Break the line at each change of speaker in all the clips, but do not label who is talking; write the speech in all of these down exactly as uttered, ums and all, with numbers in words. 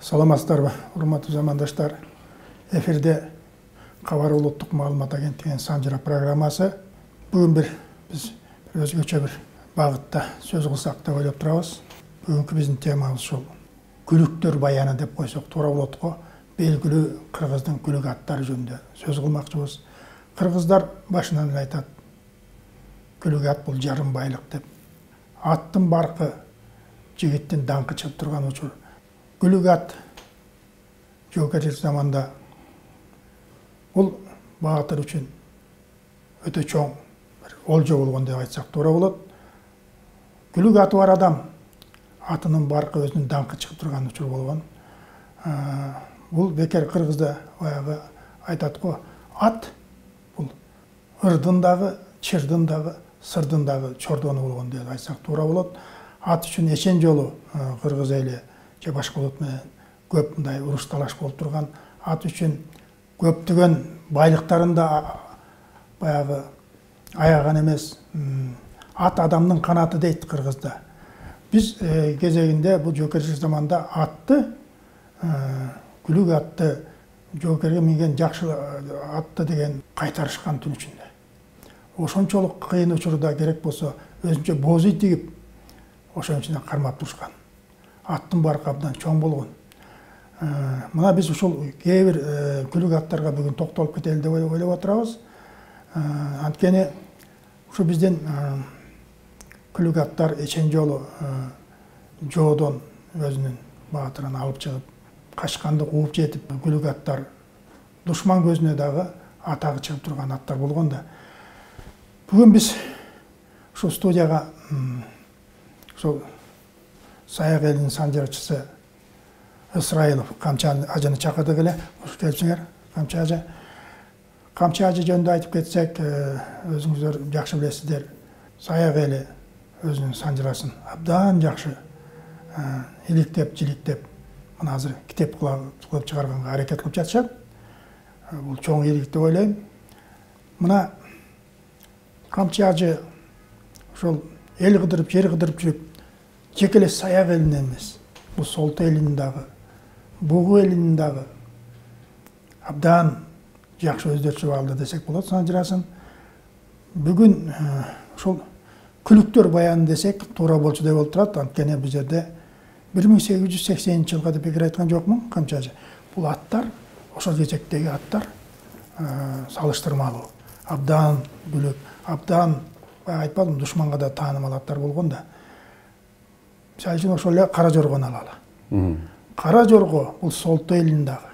Саламатсыздарбы, урматтуу замандаштар. Эфирде Кабар улуттук маалымат агенттигинин Санжыра программасы. Бүгүн бир биз бир өзгөчө бир багытта сөз кылсак деп ойлоп турабыз. Бүгүнкү биздин темабыз ушул күлүктөр баяны деп койсок туура болот го. Белгилүү кыргыздын күлүк аттары жөнүндө сөз кылмакчыбыз. Кыргыздар башынан эле айтат, күлүк ат бул жарым байлык деп. Аттын баркы жигиттин даңкы чыгып турган учур. Күлүк ат жоокерчилик заманда бул баатыр үчүн өтө чоң бир олжо болгон деп айтсак туура болот. Күлүк аты бар адам атынын баркы өзүнүн даңкы чыгып турган учур болгон. Бул бекер кыргызда баягы айтат го, ат бул ырдын дагы, чырдын дагы, сырдын дагы чордону болгон деп айтсак туура болот. Ат үчүн эчен жолу кыргыз эли же башка улут менен көп мындай уруш талаш болуп турган. Ат үчүн көптөгөн байлыктарын да баягы аяган эмес. Ат адамдын канаты дейт кыргызда. Биз кезегинде бул жоокерчилик заманда атты, күлүк атты, жоокерге минген жакшы атты деген кайтарышкан түн ичинде. Ошончолук кыйын учурда керек болсо өзүнчө боз ит тигип, ошонун ичинде кармап турушкан. Аттын баркы абдан чоң болгон. Мына биз ушул кээ бир күлүк аттарга бүгүн токтолуп кетели деп ойлоп отурабыз. Анткени ушу биздин күлүк аттар эчен жолу жоодон өзүнүн баатырын алып чыгып, качканды кууп жетип, күлүк аттар душман көзүнө дагы атагы чыгып турган аттар болгон да. Бүгүн биз ушул студияга ушул Саяк элинин санжырчысы Ысрайылов Камчы ажыны чакырдык эле. Кош келипсиңер, Камчы ажы. Камчы ажы жөнүндө айтып кетсек, өзүңүздөр жакшы билесиздер. Саяк эли өзүнүн санжырасын абдан жакшы иликтеп, жиликтеп, мына азыр китеп кылып чыгарганга аракет кылып жатышат. Бул чоң ийгилик деп ойлойм. Мына Камчы ажы ошол эл кыдырып, жер кыдырып жүрүп, жеке эле Саяк элинен эмес, бул Солто элинин дагы, Бугу элинин дагы абдан жакшы өздөрчө алды десек болот санжырасын. Бүгүн ушул күлүктөр баяны десек туура болчу деп болуп турат. Анткени бул жерде бир миң сегиз жүз сексенинчи жылга деп бекер айткан жокмун Камчы ажы. Бул аттар, ошол кезектеги аттар салыштырмалуу. Абдан бүлөк, абдан айтпадым, душманга да таанымал аттар болгон да. Мисалы үчүн ошол эле Кара Жоргону алалы. Кара Жорго бул Солто элинин дагы,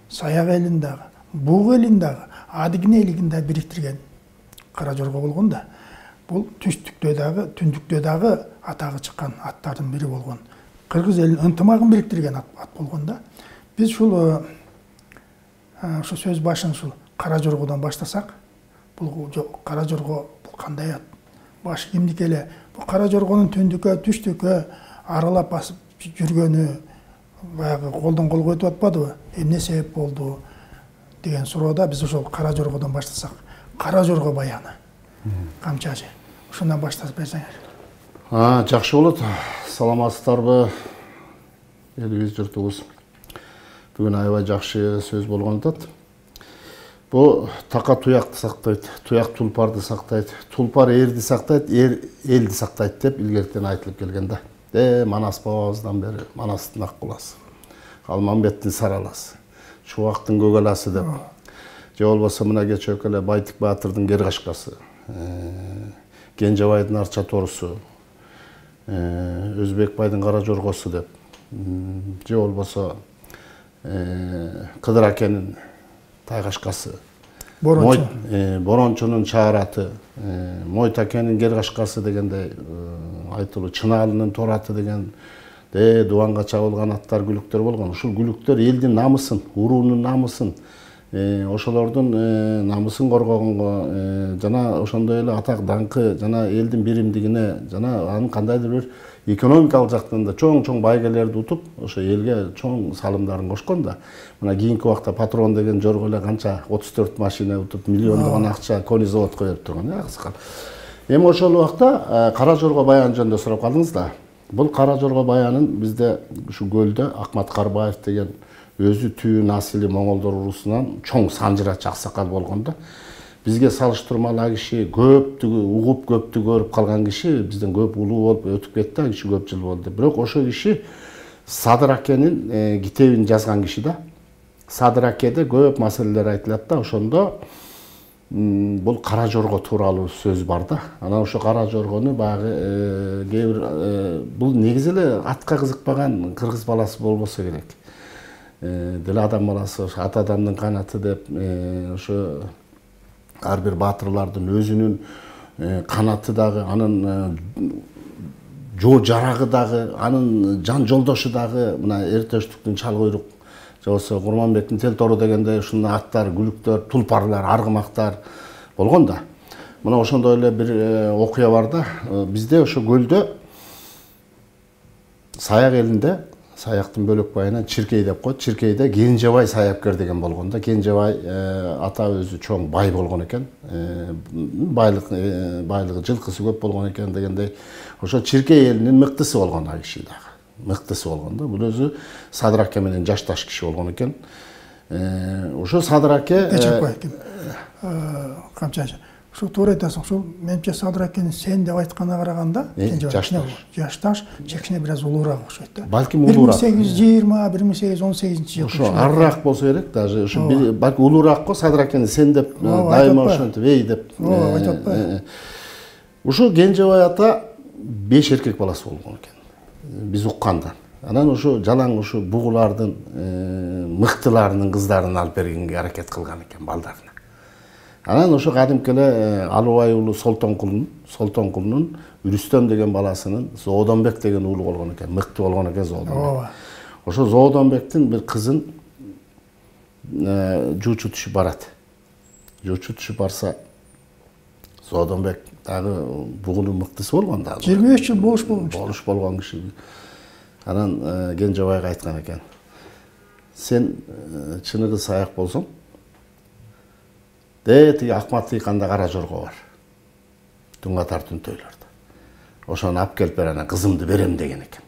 Саяк элинин дагы, Бугу элинин дагы, Адыгине элинин дагы бириктирген Кара Жорго болгон да. Бул түштүктө дагы, түндүктө дагы атагы чыккан аттардын бири болгон. Кыргыз элинин ынтымагын бириктирген ат болгон да. Биз ушул ушу сөз башын ушул Кара Жоргодон баштасак, бул Кара Жорго бул кандай ат? Баш кимдики эле? Бул Кара Жоргонун түндүккө, түштүккө аралап басып жүргөнү баягы колдон колго өтүп атпадыбы? Эмне себеп болду деген суроодо биз ошол Кара Жоргодон баштасак, Кара Жорго баяны. Камчы ажы. Ушундан баштап берсеңер.
А, жакшы болот. Саламатсыздарбы, элибиз, журтубуз. Бүгүн аябай жакшы сөз болгон атат. Бу така туякты сактайт, туяк тулпарды сактайт, тулпар эрди сактайт, эр элди сактайт деп илгертен айтылып келген да. Э, Манас бабабыздан бери Манастын ак куласы, Алмамбеттин сараласы, Чубактын көгаласы деп. Же болбосо мына кечээк эле Байтик баатырдын Гергашкасы, Кенжебайдын Арча торусу, Өзбек байдын Кара Жоргосу деп. Же болбосо Кыдыр акенин Тайгашкасы, Борончунун Чаараты, Мойт акенин Гергашкасы дегендей айтылуу, Чынаалынын Тораты деген дубанга чабылган аттар, күлүктөр болгон. Ушул күлүктөр элдин намысын, уруунун намысын, ошолордун намысын коргогонго жана ошондой эле атак даңкы жана элдин биримдигине жана анын кандайдыр бир экономикалык жактан да чоң-чоң байгелерди утуп, ошо элге чоң салымдарын кошкон да. Мына кийинки убакта Патрон деген жорго эле канча отуз төрт машина утуп, миллиондогон акча кони заводко берип турган, аксакал. Эми ошол убакта Кара Жорго баяны жөнүндө сурап калдыңыз да. Бул Кара Жорго баянын бизде ушу көлдө Акмат Карбаев деген өзү түү насили моңолдор урусунан чоң санжырачы аксакал болгондо бизге салыштырмалуу ал киши көптү угуп көптү көрүп калган киши бизден көп улуу болуп өтүп кетти, ал киши көп жыл болду. Бирок ошо киши Садыр акенин китебин жазган киши да. Садыр акеде көп маселелер айтылат да, ошондо бул Кара Жорго тууралуу сөз бар да. Анан ошо Кара Жоргону баягы кээ бир бул негизи эле атка кызыкпаган кыргыз баласы болбосо керек. Деле адам баласы ата адамдын канаты деп ошо ар бир баатырлардын өзүнүн канаты дагы, анын жоо жарагы дагы, анын жан жолдошу дагы мына Эртөштүктүн чал куйрук же болбосо Курманбектин тел тору дегендей ушундай аттар, күлүктөр, тулпарлар, аргымактар болгон да. Мына ошондой эле бир окуя бар да. Бизде ошо көлдө Саяк элинде, Саяктын бөлөк байынан Чиркей деп коет. Чиркейде Кенжебай саяпкер деген болгон да. Кенжебай ата өзү чоң бай болгон экен. Байлык байлыгы жылкысы көп болгон экен дегендей. Ошо Чиркей элинин мыктысы болгон ал киши дагы. Мыктысы болгон да. Бул өзү Садыр аке менен жашташ киши болгон экен. Ошо Садыр аке камча ушул туура айтасың. Ушул менимче Садыр акени сен деп айтканга караганда жашташ, кичине бир аз улуураак окшойт да. Балким улуураак.
бир миң сегиз жүз жыйырма, бир миң сегиз жүз он сегизинчи жыл.
Ошо арыраак болсо керек, даже ошо балки улуураак го Садыр акени сен деп дайыма ошентип эй деп.
Ооба, айтып атпайбы.
Ушул Кенжебай ата беш эркек баласы болгон экен. Биз укканда. Анан ошо жалаң ошо бугулардын мыктыларынын кыздарын алып бергенге аракет кылган экен балдарына. Анан ошо кадимки эле Алыбай уулу Солтонкулунун, Солтонкулунун Үрүстөм деген баласынын Зоодонбек деген уулу болгон экен, мыкты болгон экен Зоодонбек.
Ооба.
Ошо Зоодонбектин бир кызын жуучу түшүп барат. Жуучу түшүп барса Зоодонбек дагы бугунун мыктысы болгон да.
жыйырма беш жыл болуш болгон.
Болуш болгон киши. Анан Кенжебайга айткан экен. Сен чыныгы саяк болсоң, де тиги Акмат Тыйканда Кара Жорго бар. Туңатар Түнтөйлөрдө. Ошону алып келип бер, анан кызымды берем деген экен.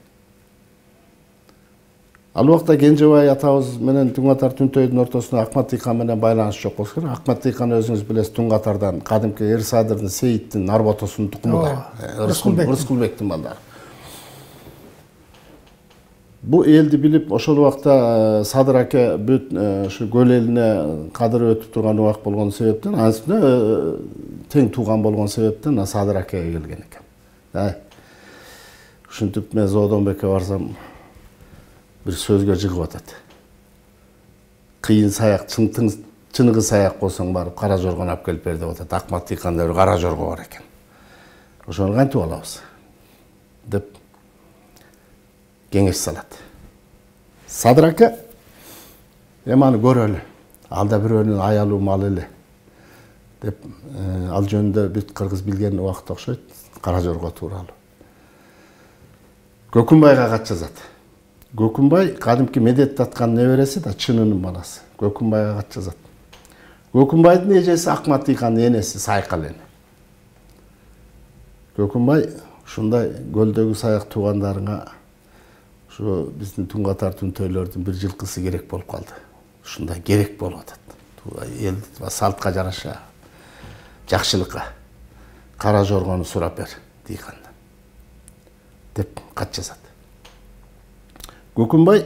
Ал убакта Кенжебай атабыз менен Туңатар Түнтөйдүн ортосунда Акмат Тыйкан менен байланыш жок болсо керек. Акмат Тыйкан өзүңүз билесиз, Туңатардан кадимки Эр-Садырдын Сейиттин Нарботосунун тукуму да. Рыскулбектин балдары. Бу элди билип, ошол убакта Садыр аке бүт ушу көл элине кадыры өтүп турган убак болгон себептен, анысында тең тууган болгон себептен Садыр акеге келген экен. Ушинтип мен Зоодонбекке барсам бир сөзгө жыгып атат. Кыйын саяк, чыныгы саяк болсоң барып Кара Жоргону алып келип бер деп атат. Акмат Тыйканда бир Кара Жорго бар экен. Ошону кантип алабыз деп кеңеш салат. Садыр аке эми аны көрөлү. Ал да бирөөнүн аялуу малы эле деп ал жөнүндө бүт кыргыз билген убакыт окшойт Кара Жорго тууралуу. Көкүнбайга кат жазат. Көкүнбай кадимки Медет таткан небереси да, чынынын баласы. Көкүнбайга кат жазат. Көкүнбайдын эжеси Акмат Тыйкандын энеси Сайкал эне. Көкүнбай ушундай көлдөгү саяк туугандарыңа ошо биздин Туңатар Түнтөйлөрдүн бир жылкысы керек болуп калды. Ушундай керек болуп атат. Эл салтка жараша, жакшылыкка Кара Жоргону сурап бер Тыйкандан деп кат жазат. Көкүнбай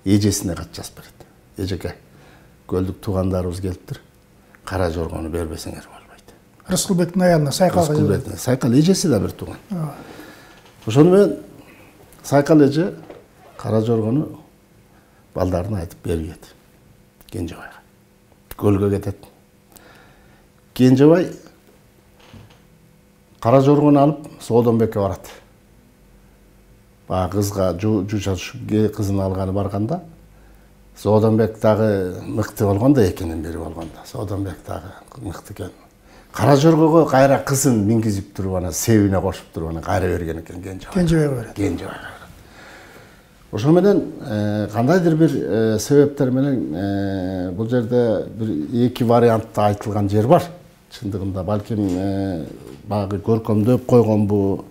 эжесине кат жазып берет. Эжеке, көлдүк туугандарыбыз келиптир. Кара Жоргону бербесеңер болбойт.
Рыскулбектин аялына Сайкалга.
Рыскулбектин. Сайкал эжеси да бир тууган. Ошону менен Сайкал эже Кара Жоргону балдарына айтып бербейт. Кенжебайга. Көлгө кетет. Кенжебай Кара Жоргону алып Зоодонбекке барат. Баа кызга жууча түшүп кызын алганы барганда Зоодонбек дагы мыкты болгон да, экинин бири болгон да. Зоодонбек дагы мыкты экен. Кара Жоргого кайра кызын мингизип туруп анан себине кошуп туруп анан кайра берген экен Кенжебай.
Кенжебайга берет.
Кенжебайга. Ошо менен кандайдыр бир себептер менен бул жерде бир эки вариантта айтылган жер бар. Чындыгында балким багы көркөмдөп койгон бу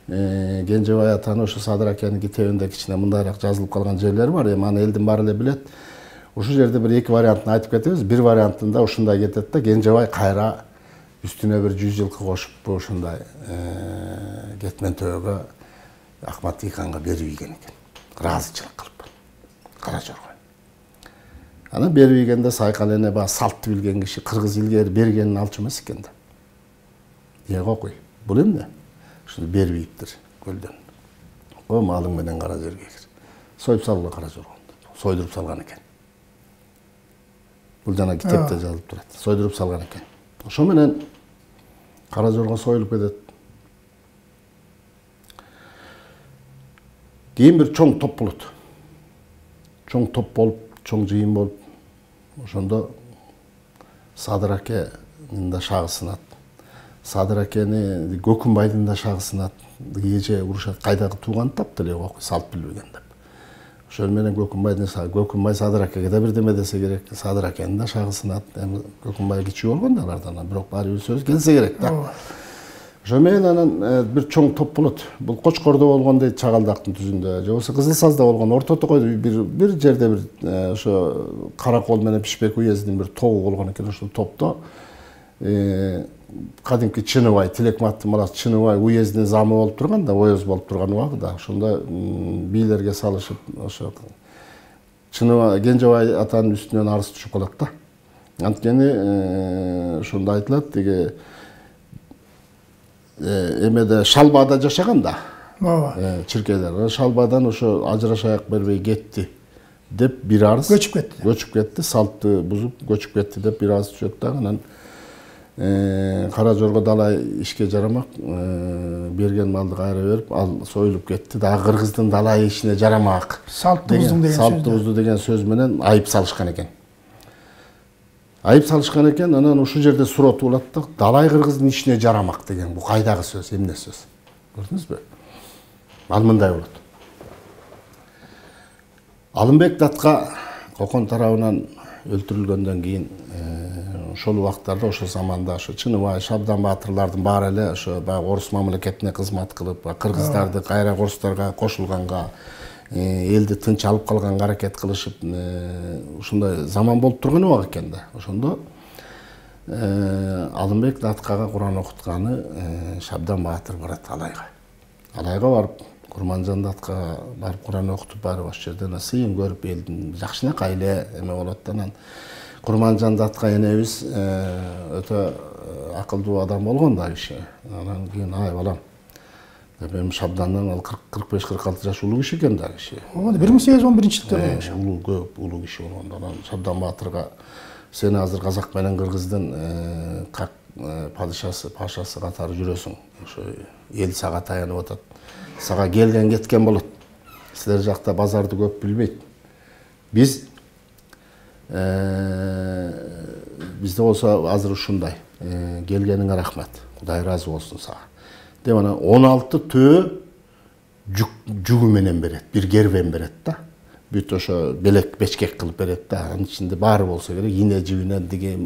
Кенжебай атаны ошо Садыр акенин китебинде кичине мындайраак жазылып калган жерлери бар. Эми аны элдин баары эле билет. Ушул жерде бир эки вариантын айтып кетебиз. Бир вариантында ушундай кетет да, Кенжебай кайра үстүнө бир жүз жылкы кошуп ушундай кетмен төбөгө Акмат Тыйканга берип ийген экен. Ыраазычылык кылып. Кара Жорго. Аны берип ийгенде Сайкал эне баягы салтты билген киши, кыргыз илгери бергенин алчу эмес экен да. Эге окуй. Бул эмне? Ушуну берип ийиптир көлдөн. О малың менен кара жерге кир. Союп салгыла Кара Жоргонду. Сойдуруп салган экен. Бул жана китепте жазылып турат. Сойдуруп салган экен. Ошо менен Кара Жорго союлуп кетет. Кийин бир чоң топ болот. Чоң топ болуп, чоң жыйын болуп, ошондо Садыр акенин да шагы сынат. Садыр акени Көкүнбайдын да шагы сынат. Эже урушат, кайдагы тууган таптыр эле окуй, салт билбеген деп. Ошол менен Көкүнбайдын шагы, Көкүнбай Садыр акеге да бирдеме десе керек, Садыр акенин да шагы сынат. Эми Көкүнбай кичүү болгон да алардан, бирок баары бир сөз келсе керек да. Ошо менен анан бир чоң топ болот. Бул Кочкордо болгон дейт, Чагалдактын түзүндө. Же болбосо Кызыл Сазда болгон, ортодо койду бир бир жерде бир ошо Каракол менен Пишпек уездин бир тобу болгон экен. Ошол топто кадимки Чыныбай, Тилекматтын баласы Чыныбай уездин замы болуп турган да, оёз болуп турган убагында. Ошондо бийлерге салышып, ошо Чыныбай, Кенжебай атанын үстүнөн арыз түшүп калат да. Анткени ошондо айтылат, деги эмеде Шалбада жашаган да. Ооба. Чиркейлер. Шалбадан ошо ажырашаяк бербей кетти деп бир арыз
көчүп кетти.
Көчүп кетти, салтты бузуп көчүп кетти деп бир арыз түшөт да. Анан Кара Жорго далай ишке жарамак, берген малды кайра берип, ал союлуп кетти. Дагы кыргыздын далай ишине жарамак.
Салтты буздуң деген сөз.
Салтты бузду деген сөз менен айып салышкан экен. Айып салышкан экен, анан ушул жерде суроо болот да, далай кыргыздын ишине жарамак деген бул кайдагы сөз, эмне сөз? Көрдүңүзбү? Ал мындай болот. Алымбек Датка Кокон тарабынан өлтүрүлгөндөн кийин ошол убактарда, ошол заманда ошо Чыныбай, Шабдан баатырлардын баары эле ошо баягы орус мамлекетине кызмат кылып, кыргыздарды кайра орустарга кошулганга, элди тынч алып калганга аракет кылышып, ушундай заман болуп турган убак экен да. Ошондо Алымбек Даткага Куран окутканы Шабдан баатыр барат Алайга. Алайга барып, Курманжан Датка барып Куран окутуп, барып ошол жерден сыйын көрүп, элдин жакшынакай эле эме болот да. Анан Курманжан Датка энебиз өтө акылдуу адам болгон да киши. Анан кийин ай балам, эми Шабдандан ал кырк беш кырк алты жаш улуу киши экен да киши.
Ооба, бир миң сегиз жүз он биринчи жылдары болмуш.
Улуу, көп улуу киши болгондо анан Шабдан баатырга сен азыр Казак менен Кыргыздын как падышасы, пашасы катары жүрөсүң. Ошо эл сага таянып атат. Сага келген кеткен болот. Силер жакта базарды көп билбейт. Биз бизде болсо азыр ушундай. Келгениңе рахмат. Кудай ыраазы болсун сага. Деп анан он алты төө жүгү менен берет, бир кербен берет да. Бүт ошо белек бечкек кылып берет да. Анын ичинде баары болсо керек, ине жибинен диге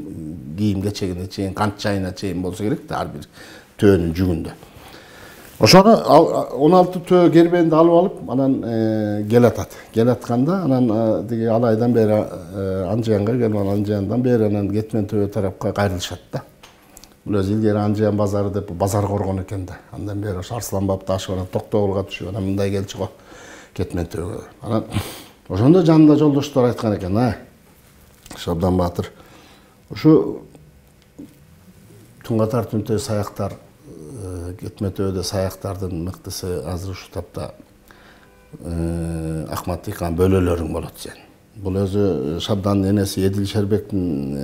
кийим кечегине чейин, кант чайына чейин болсо керек да, ар бир төөнүн жүгүндө. Ошону он алты төө кербенди алып алып, анан келатат. Келатканда анан диге Алайдан бери Анжыянга келип, Анжыяндан бери анан Кетмен төө тарапка кайрылышат да. Бул өзү илгери Анжыян базары деп базар коргон экен да. Андан бери ошо Арсланбапты ашып, анан Токтогулга түшүп, анан мындай келчи го Кетмен төөгө. Анан ошондо жанында жолдоштор айткан экен, ай Шабдан баатыр, ушу Туңгатар Түнтөй саяктар, Кетмен төөдө саяктардын мыктысы азыр ушу тапта Акмат Тыйкан бөлөлөрүң болот сен. Бул өзү Шабдандын энеси Эдил Шербектин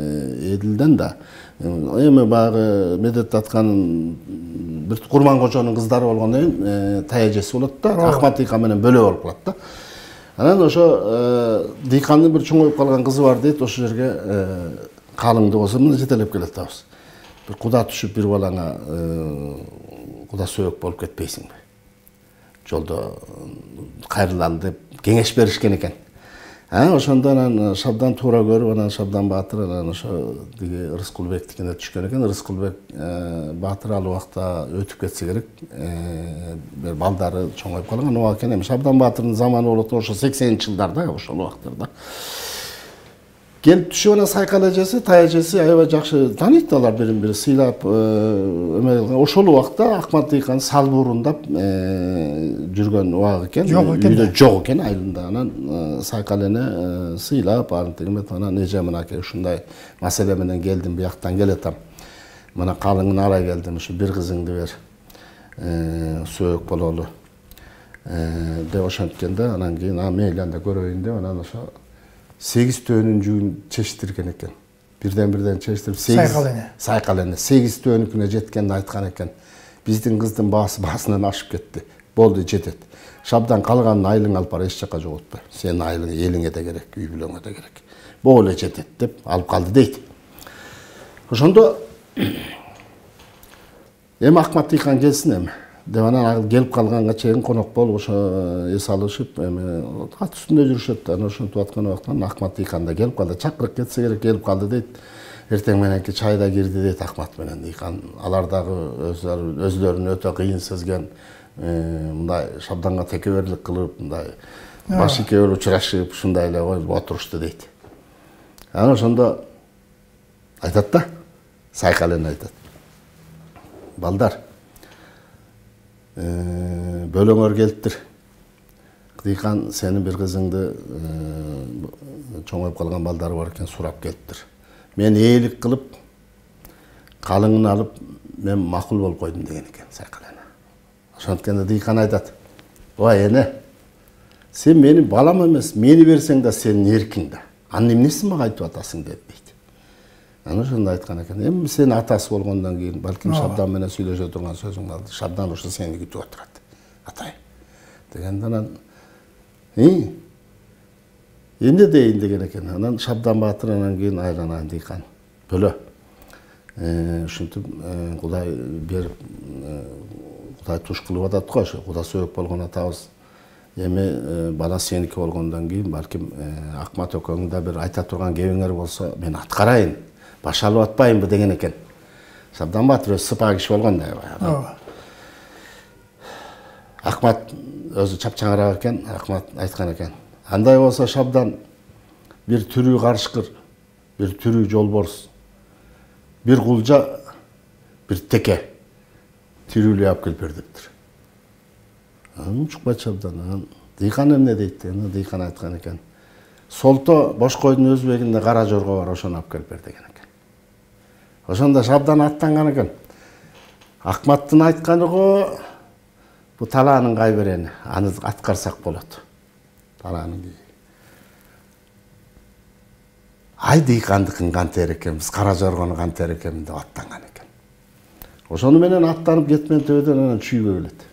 Эдилден да эми баягы Медет Датканын бир Курман кожонун кыздары болгондон кийин таяжеси болот да, Акмат Тыйкан менен бөлө болуп калат да. Анан ошо Дыйкандын бир чоңоюп калган кызы бар дейт, ошол жерге калыңды болсо мына жетелеп келет абыз. Бир куда түшүп бир балаңа куда сөөк болуп кетпейсиңби? Жолдо кайрылалы деп кеңеш беришкен экен. ошондо анан Шабдан туура көрүп, анан Шабдан Баатыр анан ошо диги Рыскулбектикине түшкөн экен. Рыскулбек Баатыр ал убакта өтүп кетсе керек. Бир балдары чоңоюп калган убак экен. Эми Шабдан Баатырдын заманы болот ошо сексенинчи жылдарда, ошол убактарда. Келип түшүп анан Сайкал эжеси, Тай эжеси аябай жакшы тааныйт, алар бирин бири сыйлап, эме ошол убакта Акмат Дыйкан салбуурундап жүргөн убак экен. Үйдө жок экен айылында. Анан Сайкал эне сыйлап, антип анан эже мынакей ушундай маселе менен келдим, бияктан келатам. Мына калыңын алай келдим, ушу бир кызыңды бер. Сөөк бололу. Деп ошенткенде анан кийин мейли анда көрөйүн деп анан ошо сегиз төөнүн жүгүн чечтирген экен. Бирден бирден чечтирип
Сайкал эне.
Сайкал эне сегиз төөнүкүнө жеткенде айткан экен. Биздин кыздын баасы баасынан ашып кетти. Болду, жетет. Шабдан калганын айылың алып бара, эч жакка жоготпо. Сенин айылың элиңе да керек, үй бүлөңө да керек. Бул эле жетет деп алып калды дейт. Ошондо эми Акмат Дыйкан келсин эми деп анан келип калганга чейин конок болуп ошо эс алышып эми ат үстүндө жүрүшөт. Анан ошентип аткан убактан Акмат Дыйкан да келип калды. Чакырып кетсе керек, келип калды дейт. Эртең мененки чайда кирди дейт Акмат менен Дыйкан. Алар дагы өзлөрүн өтө кыйын сезген, мындай Шабданга текеберлик кылып, мындай баш экөө учурашып, ушундай эле отурушту дейт. Анан ошондо айтат да, Сайкал эне айтат. Балдар, бөлөңөр келиптир. Дыйкан сенин бир кызыңды чоңоюп калган балдары бар экен, сурап келиптир. Мен ээлик кылып, калыңын алып, мен макул болуп койдум деген экен Сайкал эне. Ошонткенде Дыйкан айтат: "Ой эне, сен менин балам эмес, мени берсең да сенин эркиң да. Анын эмнесин мага айтып атасың" деп дейт. Анан ошондо айткан экен. Эми сен атасы болгондон кийин балким Шабдан менен сүйлөшө турган сөзүң алды. Шабдан ошо сени күтүп отурат. Атай. Дегенде анан "И, эмне дейин" деген экен. Анан Шабдан Баатыр анан кийин айланайын Дыйкан. Бөлө. Ушинтип Кудай берип, Кудай туш кылып атат го, ошо Куда сөөк болгон атабыз. Эми бала сеники болгондон кийин балким Акмат экөөңүн да бир айта турган кебиңер болсо, мен аткарайын. Баш алып атпайынбы деген экен. Шабдан Баатыр өзү сыпа киши болгондой. Акмат өзү чапчаңыраак экен, Акмат айткан экен. Андай болсо Шабдан бир түрүү карышкыр, бир түрүү жолборс, бир кулжа, бир теке тирүүлөй алып келип бер дептир. Анан учукпайт Шабдан. Анан Дыйкан эмне дейт? Дыйкан айткан экен. Солто бош койдун өзбегинде кара жорго бар, ошону алып келип бер деген экен. Ошондо Шабдан аттанган экен. Акматтын айтканы го бу талаанын кайберени, аны аткарсак болот. Талаанын. Ай Дыйкандыкын кантер экен, биз кара жоргону кантер экен деп аттанган экен. Ошону менен аттанып кетмен төбөдөн анан чүйгө келет.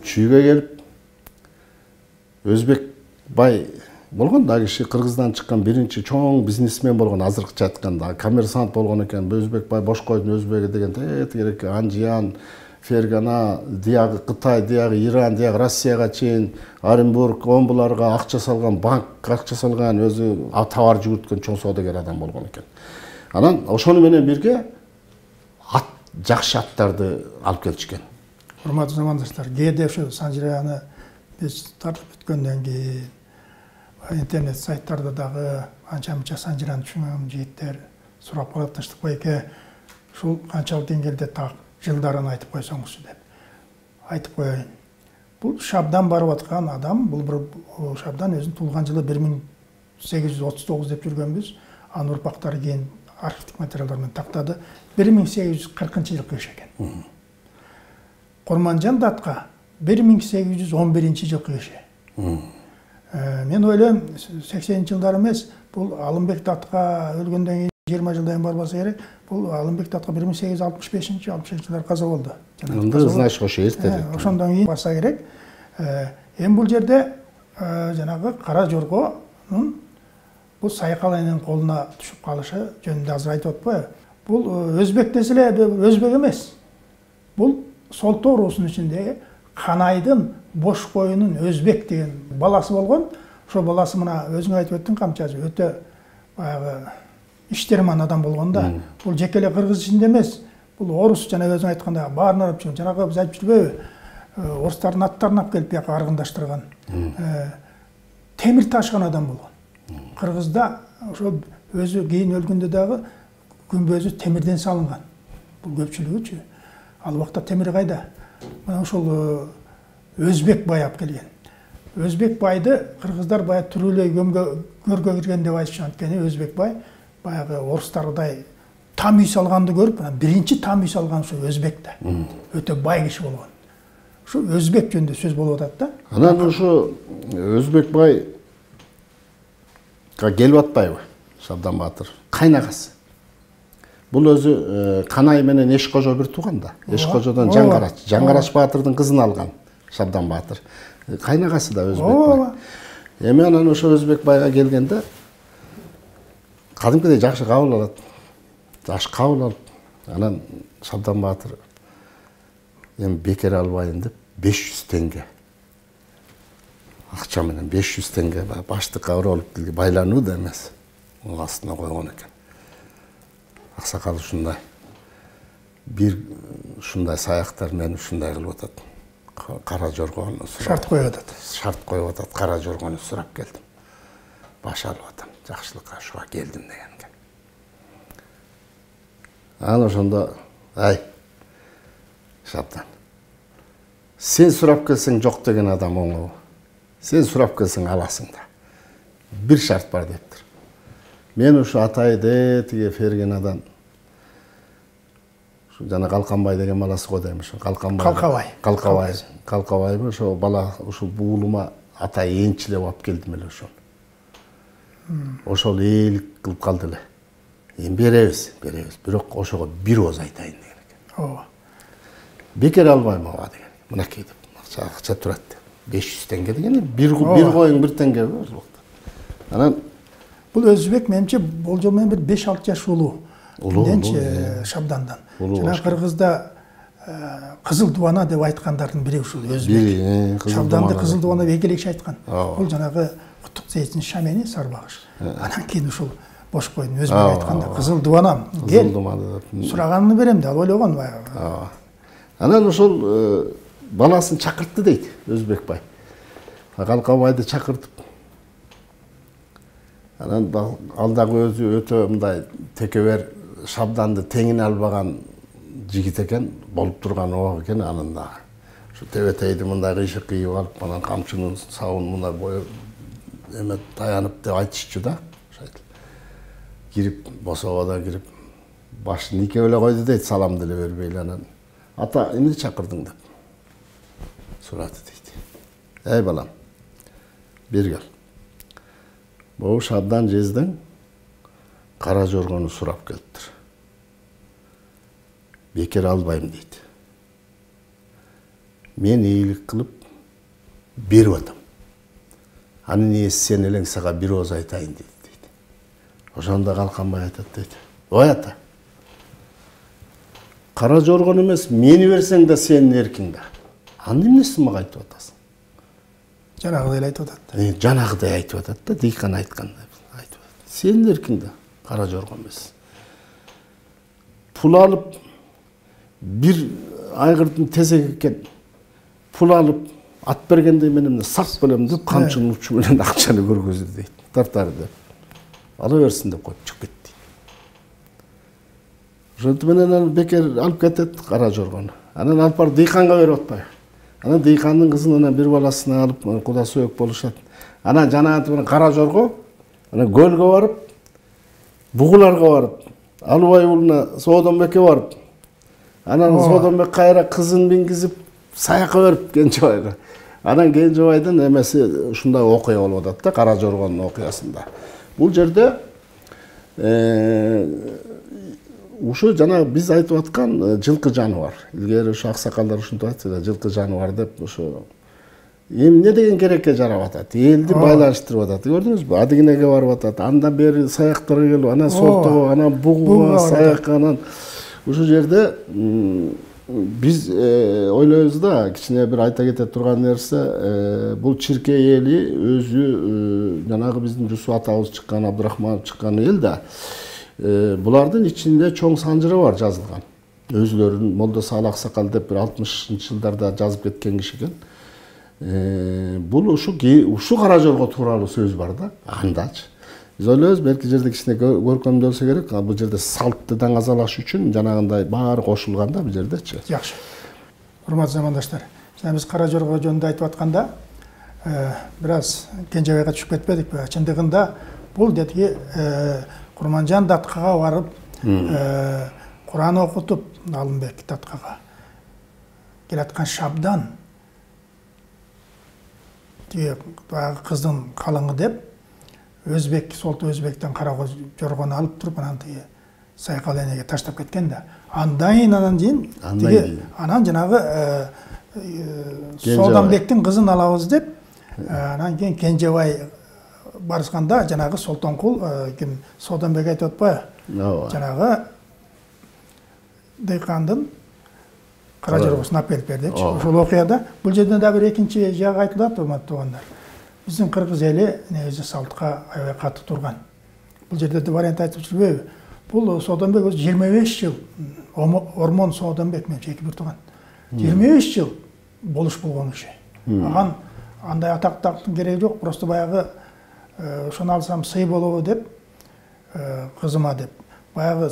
Чүйгө келип Өзбек бай болгон да киши, Кыргыздан чыккан биринчи чоң бизнесмен болгон, азыркыча айтканда коммерсант болгон экен. Өзбек бай бош койдун өзбеги деген тегерек Анжиян, Фергана, диягы Кытай, диягы Иран, диягы Россияга чейин Оренбург, Омбуларга акча салган, банк акча салган, өзү товар жүгүрткөн чоң соодагер адам болгон экен. Анан ошону менен бирге ат, жакшы аттарды алып келишкен.
Урматтуу замандаштар, кээде ошо Санжираны биз тартып өткөндөн кийин интернет сайттарда дагы анча-мынча Санжираны түшүнгөн жигиттер сурап калып таштык байке, ушул канчалык деңгээлде так жылдарын айтып койсоңузчу деп. Айтып коеюн. Бул Шабдан барып аткан адам, бул бир Шабдан өзүнүн туулган жылы бир миң сегиз жүз отуз тогуз деп жүргөнбүз. Анын урпактары кийин архивдик материалдар менен тактады. бир миң сегиз жүз кыркынчы жылы кешеген. Корманжан датка бир миң сегиз жүз он биринчи жылы кеше. Мен ойлойм, сексенинчи жылдар эмес, бул Алымбек датка өлгөндөн кийин жыйырма жылдан барбаса керек, бул Алымбек датка бир миң сегиз жүз алтымыш бешинчи алтымыш экинчи жылдар каза болду.
Анда значит ошо эрте.
Ошондон кийин барса керек. Эми бул жерде жанагы кара жоргонун бул Сайкал эненин колуна түшүп калышы жөнүндө азыр айтып атпайбы? Бул өзбек десе эле өзбек эмес. Бул Солто уруусунун ичиндеги Канайдын бош коюнун өзбек деген баласы болгон. ошо баласы мына өзүң айтып өттүң камчасы өтө баягы иштерман адам болгон да. Бул жеке эле кыргыз ичинде эмес, бул орус жана өзүң айткандай баарына алып жүргөн. Жанагы биз айтып жүрбөйбү? Орустардын аттарын алып келип бияка аргындаштырган. Темир ташкан адам болгон. Кыргызда ошо өзү кийин өлгөндө дагы күмбөзү темирден салынган. Бул көпчүлүгүчү. Ал убакта темир кайда? Мына ошол Өзбек бай алып келген. Өзбек байды кыргыздар баягы түрүлөй көмгө көргө кирген деп айтышат. Анткени Өзбек бай баягы орустардай там үй салганды көрүп, биринчи там үй салган ошо Өзбек да. Өтө бай киши болгон. Ошо Өзбек жөнүндө сөз болуп атат да.
Анан ошо Өзбек бай келип атпайбы? Шабдан Баатыр кайнагасы. Бул өзү Канай менен Эшкожо бир тууган да. Эшкожодон Жаңгарач, Жаңгарач Баатырдын кызын алган Шабдан Баатыр. Кайнагасы да Өзбек бай. Эми анан ошо Өзбек байга келгенде кадимкидей жакшы кабыл алат. Жакшы кабыл алып, анан Шабдан Баатыр эми бекер албайын деп беш жүз теңге акча менен беш жүз теңге баштыкка уралып келди, байлануу да эмес. Мунун астына койгон экен. Аксакал ушундай бир ушундай саяктар менен ушундай кылып атат. Кара жоргону
шарт коюп атат.
Шарт коюп атат. Кара жоргону сурап келдим. Баш алып атам. Жакшылыкка ушуга келдим дегенге. Анан ошондо ай Шабдан. Сен сурап келсең жок деген адам оңой. Сен сурап келсең аласың да. Бир шарт бар дептир. Мен ушу атайды тиге Фергенадан ушу жана Калканбай деген баласы го дейм ошо. Калканбай.
Калкабай.
Калкабай. Калкабайбы ошо бала ушул буулума атай энчилеп алып келдим эле ошол. Ошол ээлик кылып калды эле. Эми беребиз, беребиз. Бирок ошого бир ооз айтайын деген экен.
Ооба.
Бекер албайм ага деген. Мынакей деп акча турат. беш жүз теңге деген бир бир коюң бир теңге ошол. Анан
бул Өзбек менимче болжол менен бир беш алты жаш улуу. Улуу Шабдандан. Жана Кыргызда кызыл дубана деп айткандардын бири ушул Өзбек. Шабданды кызыл дубана деп эки киши айткан. Бул жанагы Куттук Зейиттин Шамени Сарбагыш. Анан кийин ушул бош койдун Өзбек айтканда кызыл дубанам кел. Сураганын берем деп ойлогон баягы.
Анан ошол баласын чакыртты дейт Өзбек бай. Калкабайды чакыртып. Анан ал дагы өзү өтө мындай текебер Шабданды теңине албаган жигит экен, болуп турган ого экен анын дагы. Ушу тебетейди мындай кыйшык кыйып алып, анан камчынын сабын мындай боюп эме таянып деп айтышчу да. Кирип, босободо кирип, башын нике эле койду дейт, салам деле бербей эле анан. Ата, эмне чакырдың деп сурады дейт. Эй балам, бир кел. Бул Шабдан жездең кара жоргону сурап келиптир. Бекер албайм дейт. Мен ийгилик кылып берип атам. Анын ээси сен элең сага бир ооз айтайын дейт. Ошондо Калканбай айтат дейт. Ой ата. Кара жоргон эмес, мени берсең да сенин эркиң да. Анын эмнесин мага айтып атасың?
Жанагыдай эле айтып атат.
Э, жанагыдай айтып атат да, Дыйкан айткандай айтып атат. Сенин эркиң да, кара жоргон эмес. Пул алып бир айгырдын тезеги экен. Пул алып ат бергендей мен эмне сак белем деп камчынын учу менен акчаны көргөздү дейт. Тартар деп. Ала берсин деп коюп чыгып кетти. Ошонтип менен ал бекер алып кетет кара жоргону. Анан алып барып Дыйканга берип атпайбы? Анан Дыйкандын кызын анан бир баласына алып куда сөөк болушат. Анан жанагынтип менен кара жорго анан көлгө барып, бугуларга барып, Алыбай уулуна Соодонбекке барып, анан Соодонбек кайра кызын мингизип саякка берип Кенжебайга. Анан Кенжебайдын эмеси ушундай окуя болуп атат да, кара жоргонун окуясында. Бул жерде ушу жана биз айтып аткан жылкы жаныбар. Илгери ушу аксакалдар ушинтип айтты, жылкы жаныбар деп ушу эмне деген керекке жарап атат. Элди байланыштырып атат. Көрдүңүзбү? Адыгинеге барып атат. Андан бери саяктарга келип, анан Сортого, анан Бугуга, саякка, анан ушу жерде биз ойлойбуз да, кичине бир айта кете турган нерсе, бул Чиркей эли өзү жанагы биздин Жусуп атабыз чыккан, Абдырахманов чыккан эл да, булардын ичинде чоң санжыры бар жазылган. Өзлөрүн Молдо Саал Аксакал деп бир алтымышынчы жылдарда жазып кеткен киши экен. Бул ушу ушу Кара Жорго тууралуу сөз бар да, андачы. Биз ойлойбуз, белки жерде кичине көркөмдөлсө керек, бул жерде салтты даңазалаш үчүн жанагындай баары кошулган да бул жердечи.
Жакшы. Урматтуу замандаштар, жана биз Кара Жорго жөнүндө айтып атканда, бир аз Кенжебайга түшүп кетпедикпи? Чындыгында бул детиги Курманжан Даткага барып, Куран окутуп, Алымбек Даткага келаткан Шабдан тиги баягы кыздын калыңы деп Өзбек, Солту Өзбектен Кара Жоргону алып туруп, анан тиги Сайкал энеге таштап кеткен да. Андан анан кийин тиги анан жанагы Сооданбектин кызын алабыз деп, анан кийин Кенжебай барышканда жанагы Солтонкул ким Сооданбек айтып атпайбы? Жанагы дыйкандын Кара Жоргосун алып келип бердичи. Ошол окуяда бул жерде да бир экинчи жагы айтылат, урматтуу туугандар. Биздин кыргыз эли негизи салтка аябай катуу турган. Бул жерде да вариант айтып жүрбөйбү? Бул Сооданбек өзү жыйырма беш жыл Ормон Сооданбек менен эки бир тууган. жыйырма беш жыл болуш болгон киши. Аган андай атактын кереги жок, просто баягы ошону алсам сый болобу деп, кызыма деп. Баягы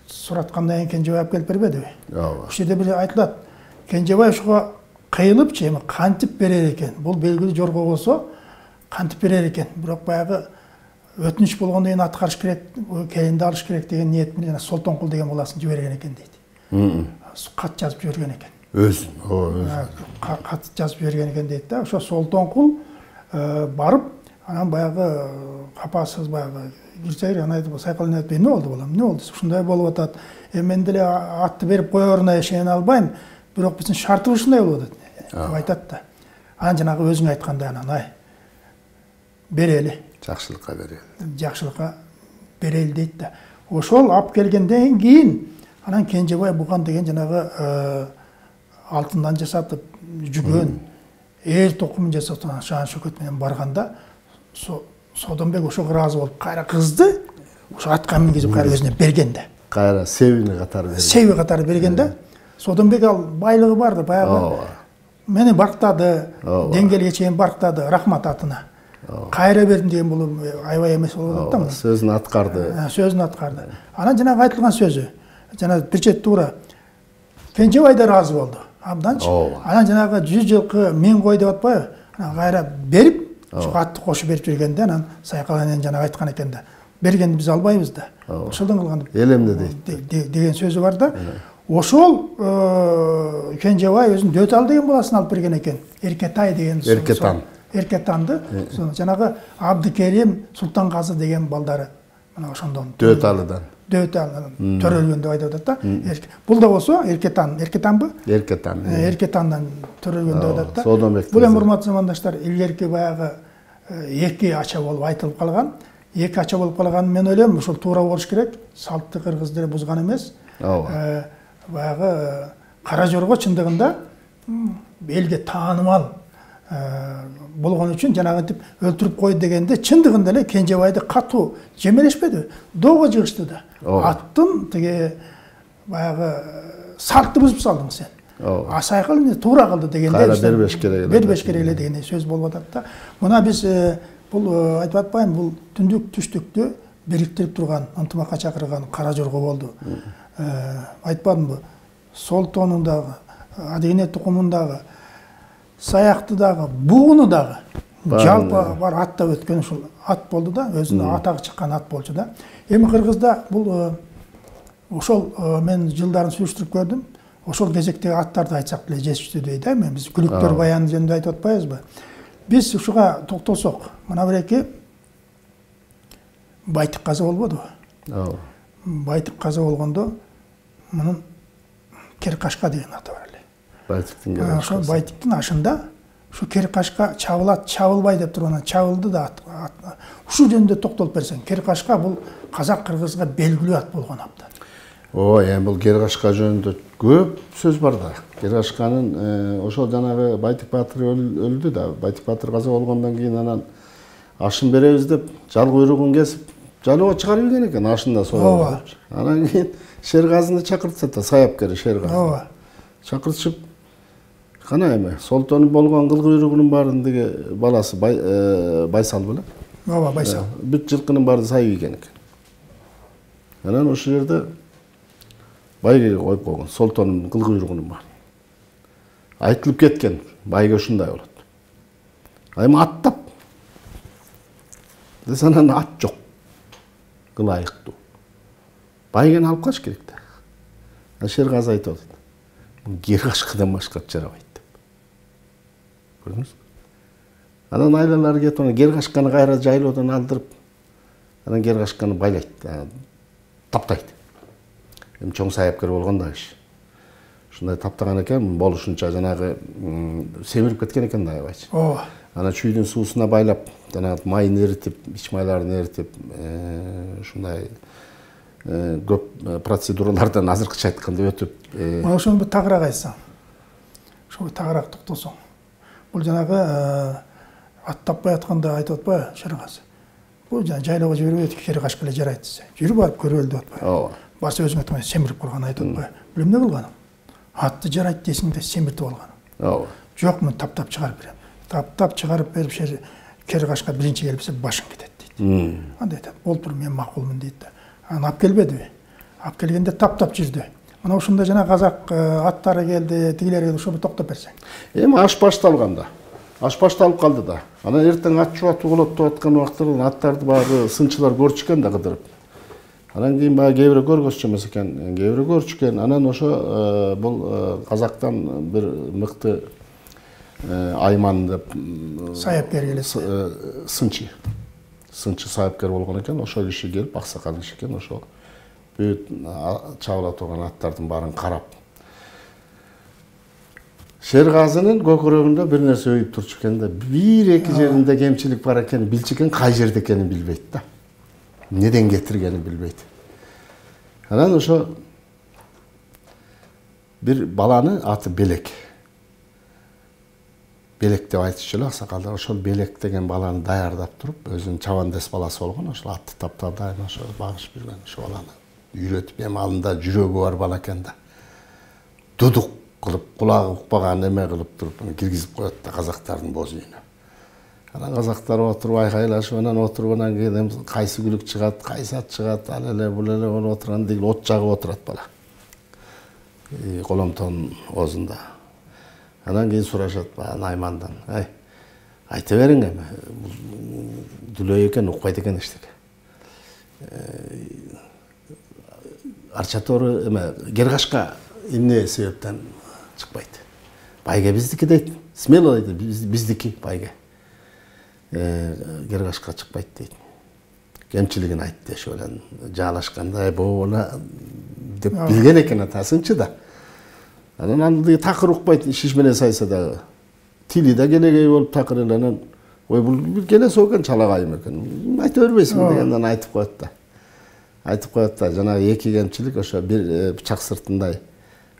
сураткандан кийин Кенжебай алып келип бербедиби? Ооба. Ошол жерде бир айтылат. Кенжебай ошого кыйылыпчы, эми кантип берер экен? Бул белгилүү жорго болсо, кантип берер экен? Бирок баягы өтүнүч болгондон кийин аткарыш керек, келинди алыш керек деген ниет менен Солтонкул деген баласын жиберген экен дейт. Кат жазып жиберген экен. Өзүн, ооба, өзүн. Кат жазып жиберген экен дейт да. Ошо Солтонкул барып, анан баягы капасыз баягы кирсейр, анан айтып, Сайкал эне айтып, эмне болду балам? Эмне болду? Ушундай болуп атат. Эми мен деле атты берип коеруна ишене албайм, бирок биздин шартыбыз ушундай болуп атат деп айтат да. Анан жанагы өзүң айткандай анан ай берели.
Жакшылыкка берели.
Жакшылыкка берели дейт да. Ошол алып келгенден кийин анан Кенжебай буган деген жанагы алтындан жасатып жүгөн эл токумун жасатып шаан шөкөт менен барганда Сооданбек ошого ыраазы болуп, кайра кызды ошо атка мингизип кайра өзүнө берген да.
Кайра себини катары берген.
Себи катары берген да. Сооданбек ал байлыгы барды, баягы мени барктады, деңгээлге чейин барктады, рахмат атына. Кайра бердим деген бул аябай эмес болуп атат да.
Сөзүн аткарды.
Сөзүн аткарды. Анан жанагы айтылган сөзү, жана бир чет туура Кенжебай да ыраазы болду. Абданчы. Анан жанагы жүз жылкы миң кой деп атпайбы? Анан кайра берип, ошо атты кошуп берип жүргөндө анан Сайкал энен жанагы айткан экен да. Бергенди биз албайбыз да. Ошолдон кылган
элемде дейт
деген сөзү бар да. Ошол Кенжебай өзүн Дөтал деген баласын алып берген экен. Эркетай деген.
Эркетан.
Эркетанды. Жанагы Абдыкерим, Султанказы деген балдары. Мына ошондон.
Дөталыдан.
Дөталдан төрөлгөн деп айтып атат да. Бул да болсо Эркетан, Эркетанбы?
Эркетан.
Эркетандан төрөлгөн деп атат да.
Сооданбек.
Бул эми урматтуу замандаштар, илгерки баягы эки ача болуп айтылып калган. Эки ача болуп калганын мен ойлойм, ушул туура болуш керек. Салтты кыргыз деле бузган эмес.
Ооба.
Баягы Кара Жорго чындыгында элге таанымал болгон үчүн жанагынтип өлтүрүп койду дегенде чындыгында эле Кенжебайды катуу жемелешпеди, доого жыгышты да. Аттын тиги баягы салтты бузуп салдың сен. А Сайкал эне туура кылды дегенде
кайра бербеш керек эле.
Бербеш керек эле деген сөз болуп атат да. Мына биз бул айтып атпайм, бул түндүк түштүктү бириктирип турган, ынтымакка чакырган Кара Жорго болду. Айтпадымбы? Солтонун дагы, Адыгене тукумун дагы, Саяктı дагы, Бугуну дагы жалпы бар аттап өткөн ушул ат болду да, өзүнө атагы чыккан ат болчу да. Эми кыргызда бул ошол мен жылдарын сүрүштүрүп көрдүм. Ошол кезектеги аттарды айтсак деле жетиштүү да, мен биз күлүктөр баяны жөнүндө айтып атпайбызбы? Биз ушуга токтолсок, мына бир эки Байтык каза болбодубу? Ооба. Байтык каза болгондо мунун Керкашка деген аты бар эле.
Байтыктын Керкашкасы.
Ошол Байтыктын ашында ушу Керкашка чабылат, чабылбай деп туруп анан чабылды да. Ушул жөнүндө токтолуп берсең, Керкашка бул казак кыргызга белгилүү ат болгон абдан.
ооба, эми бул Гергашка жөнүндө көп сөз бар да. Гергашканын ошол жанагы Байтик Баатыр өлдү да. Байтик Баатыр каза болгондон кийин анан ашын беребиз деп жал куйругун кесип жалоо чыгарып ийген экен, ашында соо. Анан кийин Шергазыны чакыртса да, саяпкер Шергазы.
Ооба.
Чакыртышып, кана эми Солтонун болгон кыл куйругунун баарындагы баласы Байсал беле?
Ооба, Байсал.
Бүт жылкынын баары сайып ийген экен. Анан ошол жерде байгеге коюп койгон, Солтонун кыл куйругунун баары. Айтылып кеткен, байге ушундай болот. Айма аттап. Десе анан ат жок. Кылайыктуу. Байгени алып калыш керек да. Шергазы айтып атат. Гергашкадан башка жарабайт деп. Көрдүңүзбү? Анан айлалары кетип, анан Гергашканы кайра жайлоодон алдырып, анан Гергашканы байлайт, таптайт. Эми чоң саяпкер болгон да киши. Ушундай таптаган экен, болушунча жанагы семирип кеткен экен да аябайчы.
Ооба.
Анан чүйдүн суусуна байлап, жанагы майын эритип, ич майларын эритип, ушундай көп процедуралардан азыркыча айтканда өтүп.
Мына ошону бир тагыраак айтсаң. Ошо тагыраак токтосоң. Бул жанагы ат таппай атканда айтып атпайбы Шергазы? Бул жайлоого жибербей Гергашка эле жарайт десе. Жүрүп барып көрөлү деп атпайбы?
Ооба.
Баса өзүң айткан семирип калган айтып атпайбы? Бул эмне кылганың? Атты жарайт дейсиң да семиртип алганың.
Ооба.
Жок, мен таптап чыгарып берем. Таптап чыгарып берип Гергашка биринчи келипсе башың кетет дейт. Андай айтат. Болуптур, мен макулмун дейт да. Анан алып келбедиби? Алып келгенде таптап жүрдү. Мына ушундай жана казак аттары келди, тигилер келди, ошо бир токтоп берсең. Эми
аш башталган да. Аш башталып калды да. Анан эртең ат чубатуу болот деп аткан убактта аттарды баары сынчылар көрчүкөн да кыдырып. Анан кийин баягы кээ бирөө көргөзчү эмес экен, кээ бирөө көрчүкөн. Анан ошо бул казактан бир мыкты Айман деп
саяпкер келет.
Сынчы. Сынчы саяпкер болгон экен, ошол киши келип аксакал киши экен, ошол бүт чабыла турган аттардын баарын карап. Шергазынын көкүрөгүндө бир нерсе өйүп турчу экен да, бир-эки жеринде кемчилик бар экенин билчү экен, кай жерде экенин билбейт да. Неден кетиргенин билбейт. Анан ошо бир баланы аты Белек. Белек деп айтышчу эле аксакалдар. Ошол Белек деген баланы даярдап туруп, өзүнүн чабандес баласы болгон, ошол атты таптап дайыма ошо багышып жүргөн, ошо баланы үйрөтүп, эми алында жүрөгү бар бала экен да. Дудук кылып, кулагы укпаган эме кылып туруп, киргизип коет да казактардын боз үйүнө. Анан казактар отуруп айкайлашып, анан отуруп, анан кийин кайсы күлүк чыгат, кайсы ат чыгат, ал эле бул эле болуп отурган дегил от жагып отурат бала. Коломтон оозунда. Анан кийин сурашат Аймандан, ай, айта бериң эми, дүлөй экен, укпайт экен эчтеке. Арчатору эме Гергашка эмне себептен чыкпайт? Байге биздики дейт. Смело дейт, биздики байге. Гергашка чыкпайт дейт. Кемчилигин айтты, ошо менен жаалашканда, боола деп билген экен атасынчы да. Анан андый такыр укпайт, шиш менен сайса дагы. Тили да келегей болуп такыр эле, анан ой бул келесе экен, чалагайым экен. Айта бербейсиңби дегенден айтып коет да. Айтып коет да, жанагы эки кемчилик ошо бир бычак сыртындай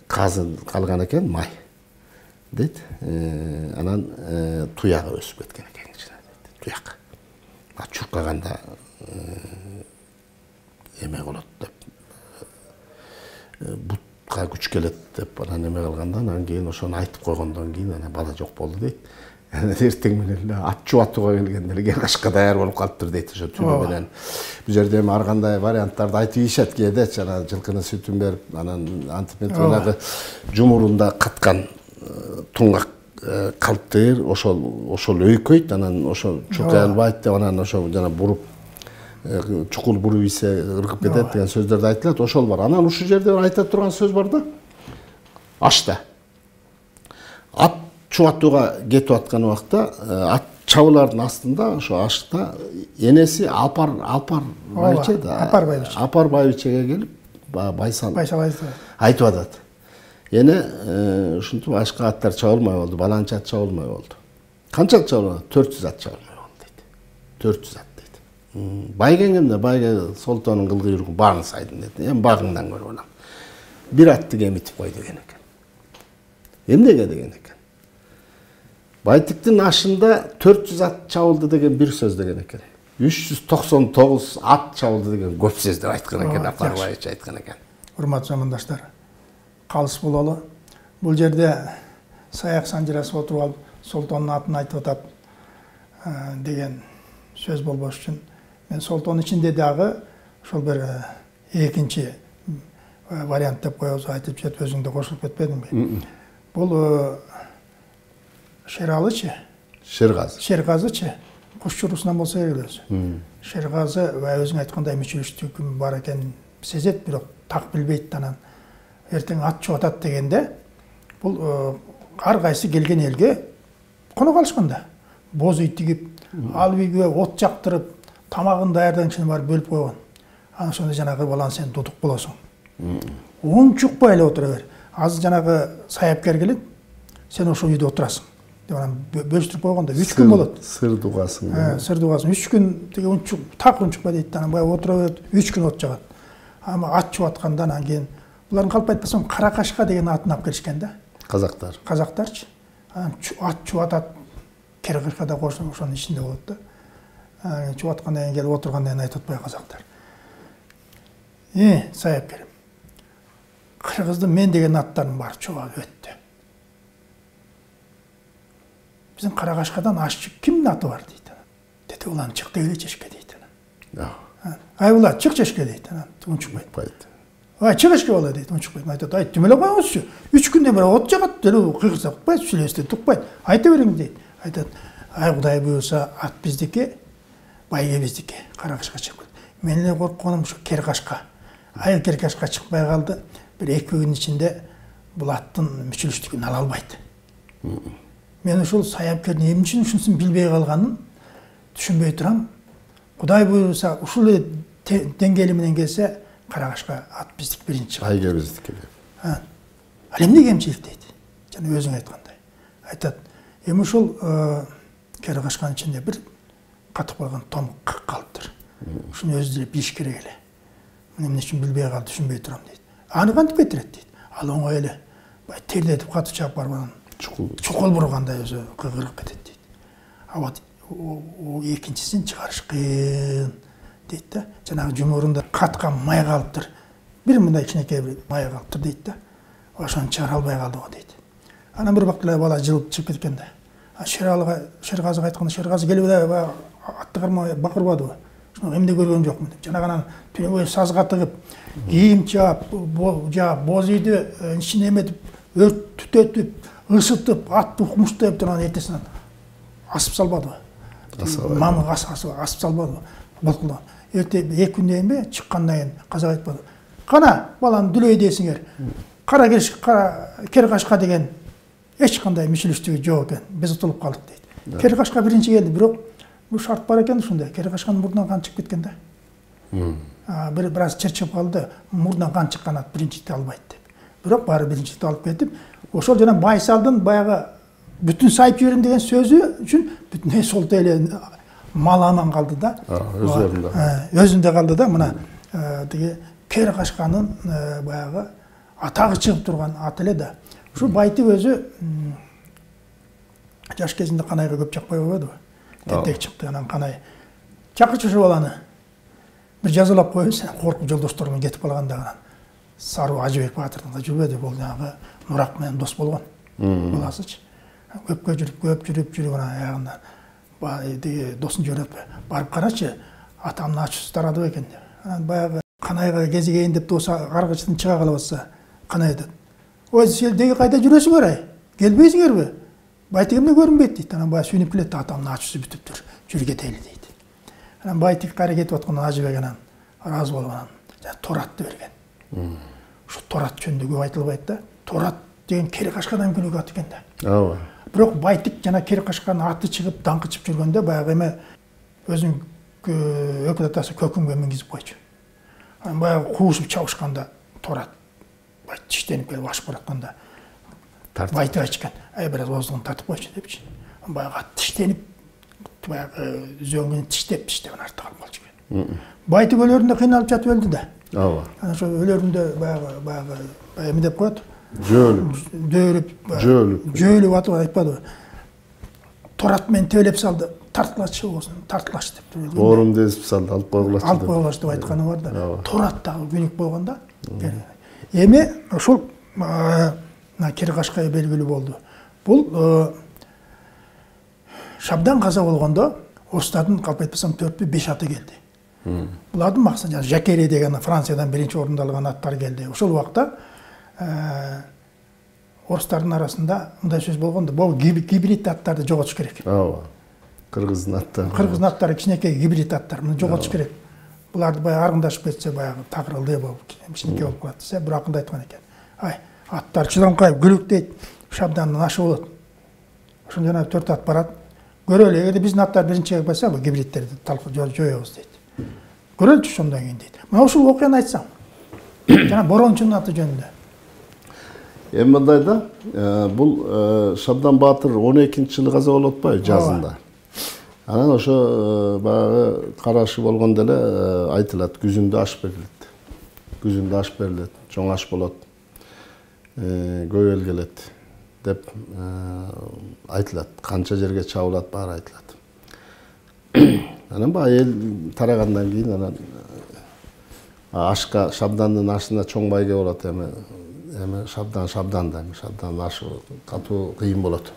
казы калган экен, май. Дейт. Анан туягы өсүп кеткен экен ичине дейт. Туяк. Чуркаганда эме болот деп. Бутка күч келет деп анан эме кылганда, анан кийин ошону айтып койгондон кийин анан бала жок болду дейт. Эртең менен эле ат чубатууга келгенде эле Гергашка даяр болуп калыптыр дейт, ошо түнү менен. Бул жерде эми ар кандай варианттарды айтып ийишет кээдечи, анан жылкынын сүтүн берип, анан антип жанагы жумурунда каткан туңгак калптыр, ошол ошол өйкөйт, анан ошо чуркай албайт деп, анан ошо жана буруп чукул буруп ийсе ыргып кетет деген сөздөрдү айтылат, ошол бар. Анан ушул жерде айта турган сөз бар да. Ашта. Ат чубатууга кетип аткан убакта ат чабылардын астында ошо ашта энеси Алпар Алпар байче да.
Алпар байче.
Алпар байчеге келип Байсал
Байсал
айтып атат. Эне ушинтип башка аттар чабылмай болду, баланча ат чабылмай болду. Канча ат чабылды? төрт жүз ат чабылмай болду дейт. төрт жүз ат дейт. Байгең эмне? Байге Солтонун кыл куйругун баарын сайдым дейт. Эми багыңдан көрүп алам. бир атты кемитип кой деген экен. Эмнеге деген экен. Байтиктин ашында төрт жүз ат чабылды деген бир сөз деген экен. үч жүз токсон тогуз ат чабылды деген көп сөз деп айткан экен, Апарбаевич айткан экен.
Урматтуу замандаштар, калыс бололу. Бул жерде саяк санжырасып отуруп алып, Солтондун атын айтып атат деген сөз болбош үчүн мен Солтондун ичинде дагы ошол бир экинчи вариант деп коебуз, айтып жетип өзүң да кошулуп кетпедиңби? Бул Шералычы,
Шергазы.
Шергазычы куш чурусунан болсо керек өзү. Шергазы өзүң айткандай мүчүлүштүгү бар экенин сезет, бирок так билбейт, анан эртең ат чуп атат дегенде бул ар кайсы келген элге коно калышканда боз үй тигип, ал үйгө от жактырып, тамагын даярдаган барып бөлүп койгон. Анан ошондо жанагы баланы сен дудук болосуң. Унчукпай эле отура бер. Азыр жанагы саяпкер келет, сен ошол үйдө отурасың. Деп анан бөлүштүрүп койгондо үч күн болот.
Сыр дугасың.
Э, сыр дугасың. үч күн тиги унчук, так унчукпай дейт. Анан баягы отура берет, үч күн от жагат. Ама ат чуп атканда анан кийин булардын калп айтпасам Каракашка деген атын алып келишкен да.
Казактар.
Казактарчы. Анан ат чуп атат, Керкашкада кошсоң ошонун ичинде болот да. Анан чуп аткандан кийин келип отургандан кийин айтып атпайбы казактар. Э, саяпкер. Кыргыздын мен деген аттарын бар чуп алып өттү. Биздин Каракашкадан ашчы кимдин аты бар дейт. Деди, улан чык дегиле чешке дейт. Ай ула чык чешке дейт. Анан унчукпайт. Ай чык чешке бала дейт, унчукпайт. Айтат, ай түмөлө коюңузчу. үч күндөн бери от жагат, деле кыйгырса укпайт, сүйлөстү тукпайт. Айта бериң дейт. Айтат, ай Кудай буюрса ат биздики, байге биздики, Каракашка чыгып келди. Мен эле коркконум ушу Керкашка. Ай Керкашка чыкпай калды. Бир эки күн ичинде бул аттын мүчүлүштүгүн ала албайт. Мен ушул саяпкердин эмне үчүн ушунусун билбей калганын түшүнбөй турам. Кудай буюрса ушул деңгээли менен келсе, Каракашка ат биздик биринчи.
Айга биздики деп.
Ал эмне кемчилик дейт? Жана өзүң айткандай. Айтат, эми ушул Керкашканын ичинде бир катып калган том калыптыр. Ушуну өзү деле билиш керек эле. Мен эмне үчүн билбей калды, түшүнбөй турам дейт. Аны кантип кетирет дейт. Ал оңой эле. Бай тердетип катып чаап барып анан чукул бургандай өзү кыгырып кетет дейт. А вот экинчисин чыгарыш кыйын дейт да. Жанагы жумурунда каткан май калыптыр. Бир мындай кичинекей бир май калыптыр дейт да. Ошону чыгара албай калды го дейт. Анан бир убакта бала жылып чыгып кеткен да. Шералыга, Шергазыга айтканда, Шергазы келип эле атты кармай бакырбадыбы? Эмне көргөн жокмун деп. Жанагынан түнөгө сазга тыгып, кийим чаап, жаап, боз үйдү ичине эметип, өрт түтөтүп, ысытып, ат укмуштап турган эртесинен асып салбадыбы? Мамы асып салбадыбы? Болкулган. Эрте эки күндөн кийин чыккандан кийин казак айтпады. Кана, баланы дүлөй дейсиңер. Кара Керкашка деген эч кандай мүчүлүштүгү жок экен. Биз утулуп калдык дейт. Керкашка биринчи келди, бирок бул шарт бар экен ушундай. Керкашканын мурдунан кан чыгып кеткен да. Бир бираз чырчып калды, мурдунан кан чыккан ат биринчиликти албайт деп. Бирок баары биринчиликти алып кетип, ошол жана Байсалдын баягы бүтүн сайып жиберем деген сөзү үчүн бүтүн солто эле мал аман калды да.
Өзүндө.
Өзүндө калды да. Мына тиги Керкашканын баягы атагы чыгып турган ат эле да. Ушу Байтик өзү жаш кезинде Канайга көп жакпай койбодубу? Тентек чыкты, анан Канай чакырчы ушу баланы. Бир жазалап коебуз, коркуп жолдоштор менен кетип калганда анан Саруу Ажыбек Баатырдын да жүрбөдү, бул жанагы Нурак менен дос болгон баласычы. Көпкө жүрүп, көп жүрүп жүрүп анан аягында досун жиберип, барып карачы, атамдын ачуусу тарадыбы экен деп. Анан баягы Канайга кезигейин деп доса каргычтан чыга калып атса, Канай айтат, ой, сен деги кайда жүрөсүңөр ай? Келбейсиңерби? Байтик эмне көрүнбөйт дейт. Анан баягы сүйүнүп келет, атамдын ачуусу бүтүптүр, жүрүп кетели дейт. Анан Байтик кайра кетип атканда Ажыбек анан ыраазы болуп анан Торатты берген. Ушу Торат жөнүндө көп айтылбайт да. Торат деген Керкашкадан күнүгө ат экен да.
Ооба.
Бирок Байтик жана Керкашканын аты чыгып, даңкы чыгып жүргөндө баягы эме өзүнүн өкүл атасы көкүмгө мингизип койчу. Анан баягы куушуп чабышканда Торат бай тиштенип келип ашып баратканда Байтик айтышкан, ай бираз оозуңду тартып койчу депчи. Баягы ат тиштенип, баягы зөңгүнү тиштеп, тиштеп артта калып калчу экен. Байтик өлөрүндө кыйналып жатып өлдү да.
ооба.
Ana ошо өлөрүндө баягы баягы эме деп коет.
Жөөлүп.
Дөөрүп.
Жөөлүп.
Жөөлүп атып айтпадыбы? Торат менен тебелеп салды, тартылачы болсун, тартылаш деп.
Оорум десип салды, алып койгулачы.
Алып койгулачы деп айтканы бар да. Торат дагы күнүк болгондо. Эми ошол мына Кери Кашкай белгилүү болду. Бул Шабдан каза болгондо орустардын калп айтпасам төртпү беш аты келди. Булардын максаты жана Жакери деген Франциядан биринчи орунду алган аттар келди. Ошол убакта орустардын арасында мындай сөз болгондо, бул гибрид аттарды жоготуш керек.
Ооба. Кыргыздын аттары.
Кыргыздын аттары кичинекей гибрид аттар, муну жоготуш керек. Буларды баягы аргындашып кетсе, баягы тагырылды болуп, кичинекей болуп калат десе, бирок акында айткан экен. Ай, аттар чыдамкай күлүктейт, Шабдандын ашы болот. Ошондо жана төрт ат барат. Көрөлү, эгерде биздин аттар биринчиге койсо, бул гибридтерди жоёбуз дейт. Көрөлүчү ошондон кийин дейт. Мына ушул окуяны айтсаң. Жана Борончунун аты жөнүндө.
Эми мындай да, бул Шабдан Баатыр он экинчи жылы каза болуп атпайбы жазында. Анан ошо баягы карашы болгондо эле айтылат, күзүндө аш берилет. Күзүндө аш берилет, чоң аш болот. Көп эл келет деп айтылат. Канча жерге чабылат баары айтылат. Анан баягы эл тарагандан кийин анан ашка, Шабдандын ашына чоң байге болот эми. Эми Шабдан Шабдан да, Шабдандын ашы катуу кыйын болот.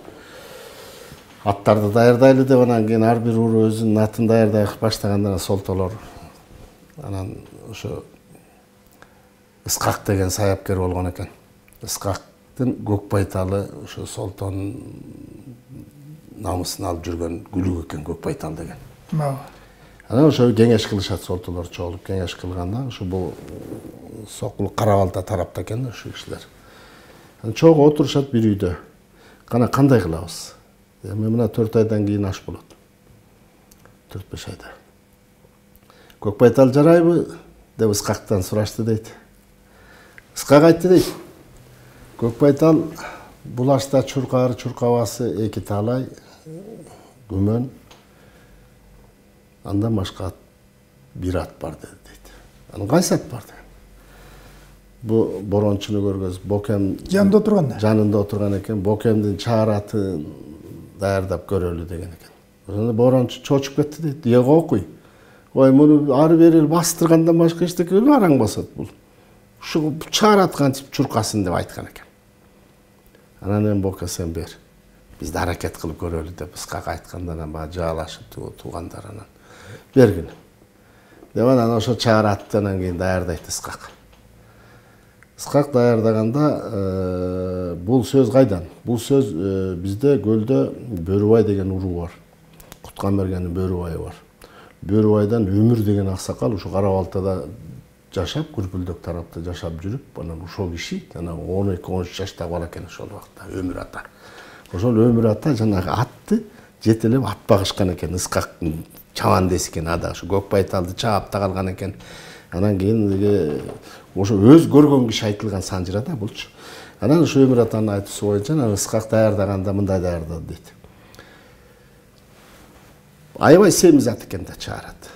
Аттарды даярдайлы деп анан кийин ар бир уру өзүнүн атын даярдай баштаганда солтолор. Анан ошо Искак деген саяпкер болгон экен. Искактын көк байталы ошо солтонун намысын алып жүргөн күлүк экен көк байтал деген. Анан ошо кеңеш кылышат, солтолор чогулуп кеңеш кылганда, ошо бул Сокулук Карабалта тарапта экен ошо кишилер. Анан чогуу отурушат бир үйдө. Кана кандай кылабыз? Эми мына төрт айдан кийин аш болот. төрт беш айда. Көк байтал жарайбы деп Искактан сурашты дейт. Искак айтты дейт. Көк байтал бул ашта чуркаар чуркабасы эки талай, күмөн. Андан башка бир ат бар дейт. Анан кайсы ат бар дейт? Бу Борончуну көргөз, Бокем
жанында отурган.
Жанында отурган экен. Бокемдин чаар атын даярдап көрөлү деген экен. Ошондо Борончу чочуп кетти дейт. Эге окуй. Ой, муну ары бери бастыргандан башка эчтеке эле араң басат бул. Ушу чаар ат кантип чуркасын деп айткан экен. Анан эми Боке сен бер. Биз да аракет кылып көрөлү деп Искак айтканда анан баа жаалашып туугандар анан бергин. Деп анан ошо чаар аттан кийин даярдайт Искак. Искак даярдаганда бул сөз кайдан? Бул сөз бизде көлдө Бөрүбай деген уруу бар. Кутканбергендин Бөрүбайы бар. Бөрүбайдан Өмүр деген аксакал ушу Карабалтада жашап, Күрпүлдөк тарапта жашап жүрүп, анан ошол киши анан он эки он үч жаштагы бала экен ошол убакта Өмүр ата. Ошол Өмүр ата жанагы атты жетелеп ат багышкан экен. Искактын чабандеси экен ада ошо көк байталды чаап да калган экен. Анан кийин ошо өз көргөн киши айтылган санжыра да булчу. Анан ошо Өмүр атанын айтуусу боюнча анан Искак даярдаганда мындай даярдады дейт. Аябай семиз ат экен да чаарат.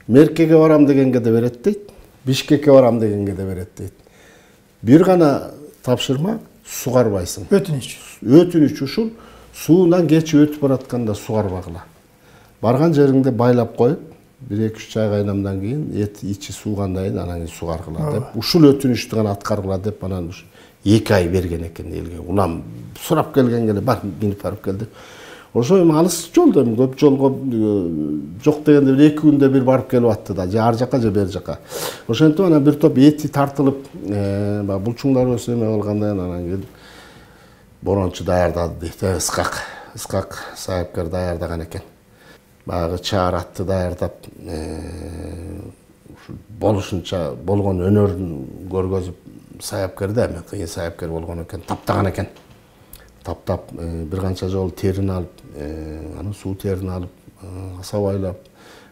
Меркеге барам дегенге да берет дейт. Бишкекке барам дегенге да берет дейт. Бир гана тапшырма сугарбайсың.
Өтүнүч.
Өтүнүч ушул суунан кечип өтүп баратканда сугарбагыла. Барган жериңде байлап коюп, бир эки үч ай кайнамдан кийин эт ичи суугандан кийин анан кийин сугаргыла деп, ушул өтүнүчтү гана аткаргыла деп анан эки ай берген экен элге. Улам сурап келгенге эле бар минип барып келди. Ошо эми алыс жолдо, көп жолго жок дегенде бир эки күндө бир барып келип атты да, же ар жака же бер жака. Ошентип анан бир топ эти тартылып, баягы булчуңдар өсүп эме калгандан кийин анан кийин Борончу даярдады дейт. Искак, Искак саяпкер даярдаган экен. Баягы чаар атты даярдап, болушунча болгон өнөрүн көргөзүп саяпкер да, эми кыйын саяпкер болгон экен, таптаган экен. Таптап бир канча жолу терин алып, анан суу терин алып, асабайлап,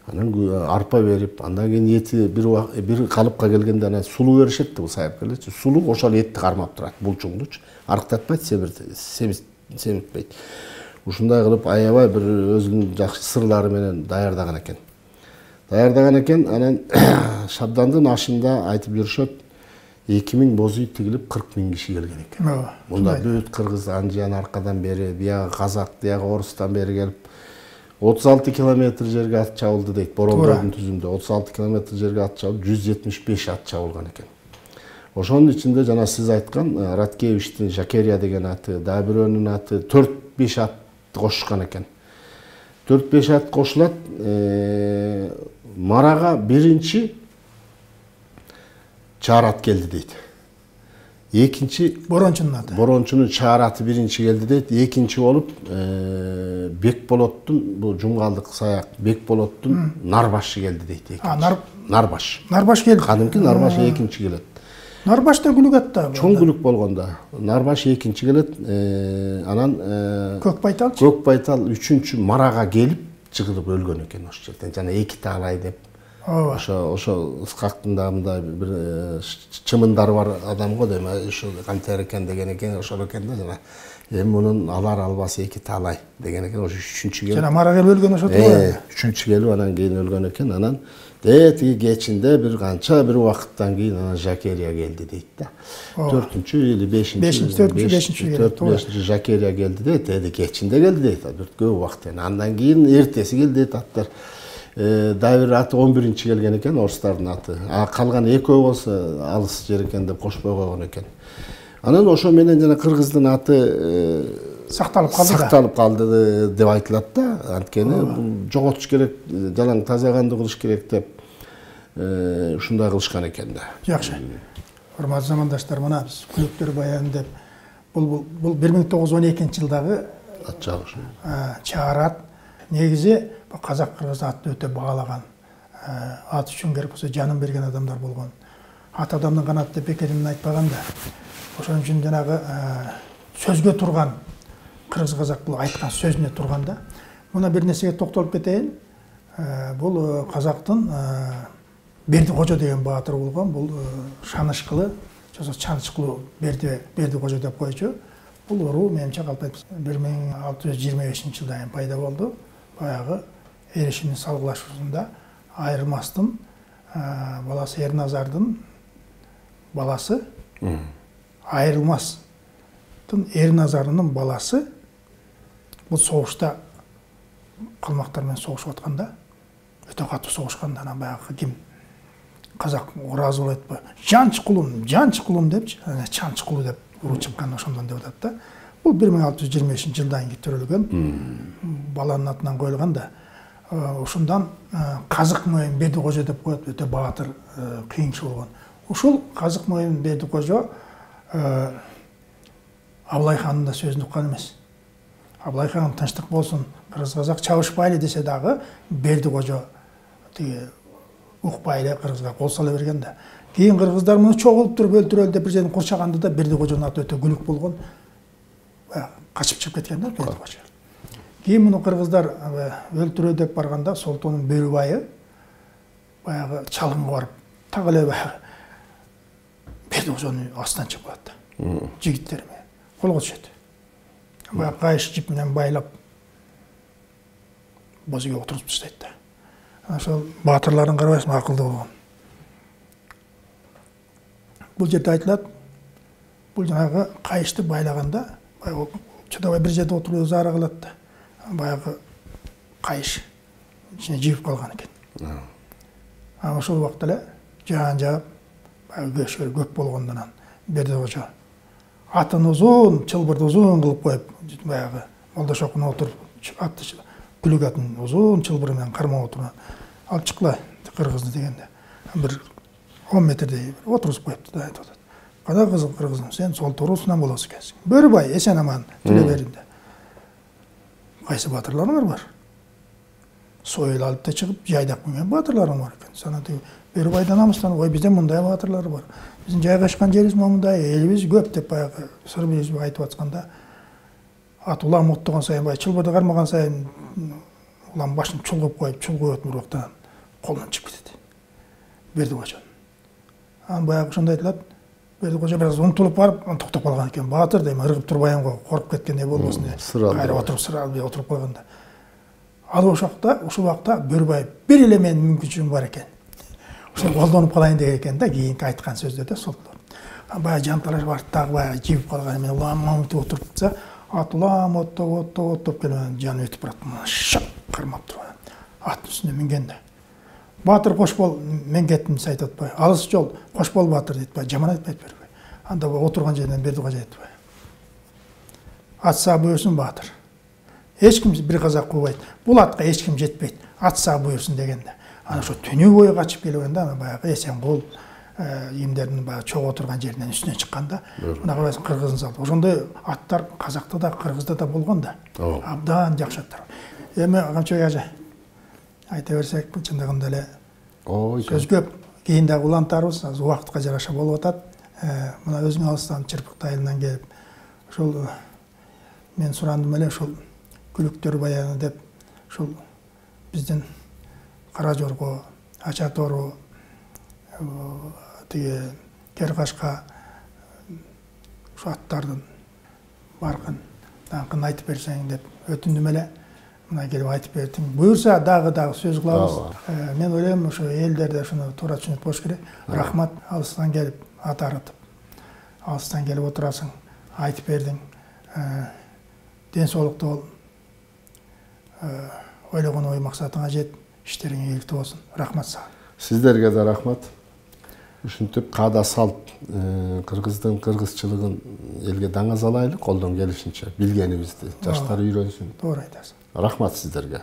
анан арпа берип, андан кийин эти бир бир калыпка келгенде анан сулуу беришет бул саяпкерлерчи. Сулуу ошол этти кармап турат, булчуңдучу. Арыктатпайт, семиртпейт. Ушундай кылып аябай бир өзүнүн жакшы сырлары менен даярдаган экен. даярдаган экен. Анан Шабдандын ашында айтып жүрүшөт, эки миң боз үй тигилип кырк миң киши келген экен. Мында бүт кыргыз анжан аркадан бери, биягы казак, биягы орустан бери келип отуз алты километр жерге ат чабылды дейт. Боролдордун түзүмдө отуз алты километр жерге ат чабылып, жүз жетимиш беш ат чабылган экен. Ошонун ичинде жана сиз айткан Раткевичтин Жакерия деген аты, дагы бирөөнүн аты, төрт беш ат кошушкан экен. төрт беш ат кошулат. Марага биринчи чаар ат келди дейт. Экинчи
Борончунун аты.
Борончунун чаар аты биринчи келди дейт. Экинчи болуп Бекболоттун, бул Жумгалдык саяк Бекболоттун Нарбашы келди дейт.
А,
Нарбаш.
Нарбаш келди.
Кадимки Нарбаш экинчи келет.
Нарбаш да күлүк ат да.
Чоң күлүк болгондо. Нарбаш экинчи келет. Анан
Көк Байтал.
Көк Байтал үчүнчү Марага келип жыгылып өлгөн экен ошол жерден. Жана эки таалай деп. Ошо ошо Исхактын да мындай бир чымындары бар адам го дейм. Ошо кантер экен деген экен, ошол экен да жана. Эми мунун алар албасы эки таалай деген экен. Ошо үчүнчү келип.
Жана Марага өлгөн ошо турбайбы?
Үчүнчү келип анан кийин өлгөн экен. Анан тиги кечинде бир канча бир убакыттан кийин анан Жакерия келди дейт да. төртүнчү или бешинчи
төртүнчү бешинчи
төрт бешинчи Жакерия келди дейт. Эди кечинде келди дейт. Бир көп убакыт. Андан кийин эртеси келди дейт аттар. Дагы бир аты он биринчи келген экен, орустардын аты. А калган экөө болсо алыс жер экен деп кошпой койгон экен. Анан ошо менен жана кыргыздын аты
сакталып калды да.
Сакталып калды деп айтылат да. Анткени жоготуш керек, жалаң таза канды кылыш керек деп ушундай кылышкан экен да.
Жакшы. Урматтуу замандаштар, мына биз күлүктөр баян деп бул бул бир миң тогуз жүз он экинчи жылдагы
ат чабыш.
Чаар ат. Негизи казак кыргыз атты өтө баалаган. Ат үчүн керек болсо жанын берген адамдар болгон. Ат адамдын канаты деп бекеринен айтпаган да. Ошон үчүн жанагы сөзгө турган, кыргыз казак бул айткан сөзүнө турганда, мына бир нерсеге токтолуп кетейин. Бул казактын Бердикожо деген баатыр болгон, бул Шанышкылы, жосо Чанышкылуу Берди Бердикожо деп койчу. Бул уруу менимче калп бир миң алты жүз жыйырма бешинчи жылда пайда болду. Баягы Эрешимдин салгылашуусунда Айырмастын баласы Эрназардын баласы, Айырылмастын Эрназарынын баласы бул согушта калмактар менен согушуп атканда, өтө катуу согушканда, анан баягы ким казак ыраазы болуп атпы? Жанчыкулум, Жанчыкулум депчи, Чанчыкулу деп уруу чыккан, ошондон деп атат да. Бул бир миң алты жүз жыйырма бешинчи жылдан кийин төрөлгөн, баланын атынан коюлган да. Ушундан Казык Моюн Бердикожо деп коет, өтө баатыр, кыйын киши болгон. Ушул Казык Моюн Бердикожо Абылай хандын да сөзүн уккан эмес. Абылай хан тынчтык болсун, кыргыз казак чабышпайлы десе дагы Бердикожо тиги укпайлы кыргызга кол сала берген да. Кийин кыргыздар муну чогулуп туруп өлтүрөлү деп бир жерден курчаганда да Бердикожонун аты өтө күлүк болгон. Качып чыгып кеткен да Бердикожо. Кийин муну кыргыздар өлтүрө деп барганда Солтоонун Бөрүбайы баягы чалымга барып так эле Бердикожонун астынан чыгып калат да. Жигиттер менен колго түшөт. Баягы кайыш жип менен байлап боз үйгө отуруп таштайт да. Ошол баатырларын карабайсыңбы, акылдуу болгон. Бул жерде айтылат, бул жанагы кайышты байлаганда баягы чыдабай бир жерде отуруп заара кылат да. Баягы кайыш ичине жигип калган экен. Анан ошол убакта эле жаан жаап баягы көчкөр көп болгондон анан Бердикожо атын узун, чылбырды узун кылып коюп, баягы Молдошокуна отуруп, атты күлүк атын узун чылбыры менен кармап отуруп, алып чыккыла кыргызды дегенде, бир он метрдей отургузуп коюпту да, айтып атат. Када кызым кыргызым, сен сол туруусунан болосуң экенсиң. Бөрүбай, эсен аман тиле беринде. Кайсы баатырларыңар бар? Сойыл алып да чыгып, жайдак менен баатырларың бар экен. Сана тиги Бөрүбайдан намыстан, ой бизден мындай баатырлар бар. Биздин жайгашкан жерибиз мындай, элибиз көп деп баягы сыр бириз айтып атканда, ат улам оттогон сайын, баягы чылбырды кармаган сайын улам башын чулгуп коюп, чулгуп өтүп уруктан колунан чыгып кетет. Бердикожо. Анан баягы ошондой айтылат, Бердикожо бир аз умтулуп барып, токтоп калган экен. Баатыр дейм, ыргып турбайын го, коруп кеткендей болбосун деп. Кайра отуруп сыра отуруп койгонда. ал ошакта ушул убакта Бөрбаев бир эле менин мүмкүнчүлүгүм бар экен. Ошол колдонуп калайын деген экен да, кийинки айткан сөздөрдө сол. Баягы жанталаш барыптагы баягы жибип калган мен улам өтүп отурупса, ат улам оттоп оттоп оттоп келип жаны өтүп барат. Шак кармап турган. Аттын үстүнө мингенде. Батыр Кошбол мен кеттим дейт атпай. Алыс жол Кошбол батыр дейт бай, жаман айтпайт бербей. Анда отурган жерден Бердикожо айтпай. Ат саа буйрсун батыр. Эч ким бир казак кубайт. Бул атка эч ким жетпейт. Ат саа буйрсун дегенде. Ана ошо түнү бою качып келгенде ана баягы Эсенгул ийимдердин баягы чогуу отурган жеринен үстүнө чыкканда, мына карайсың кыргызын салды. Ошондой аттар казакта да, кыргызда да болгон да. Абдан жакшы аттар. Эми Камчыбек ажа айта берсек, чындыгында эле сөз көп. Кийин дагы улантарбыз, азыр убакытка жараша болуп атат. Мына өзүң алыстан Чырпык айылынан келип, ошол мен сурандым эле ошол күлүктөр баягы деп, ошол биздин Кара Жорго, Ача Тору, тиги Керкашка ушу аттардын баркын, даңкын айтып берсең деп өтүндүм эле. Мына келип айтып бердиң. Буюрса дагы дагы сөз кылабыз. Мен ойлойм ошо элдерде ошону туура түшүнүп коюш керек. Рахмат, алыстан келип ат арытып, алыстан келип отурасың, айтып бердиң. Ден соолукту бол. Ойлогон ой максатыңа жет, иштериң ийгиликтүү болсун. Рахмат сага.
Сиздерге да рахмат. Ушинтип каада салт кыргыздын кыргызчылыгын элге даңазалайлы, колдон келишинче билгенибизди жаштар үйрөнсүн.
Туура айтасың.
Рахмат сиздерге.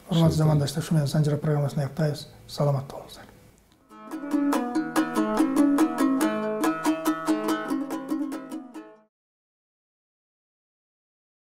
Урматтуу замандаштар, ушу менен Санжара программасын аяктайбыз. Саламатта болуңуздар.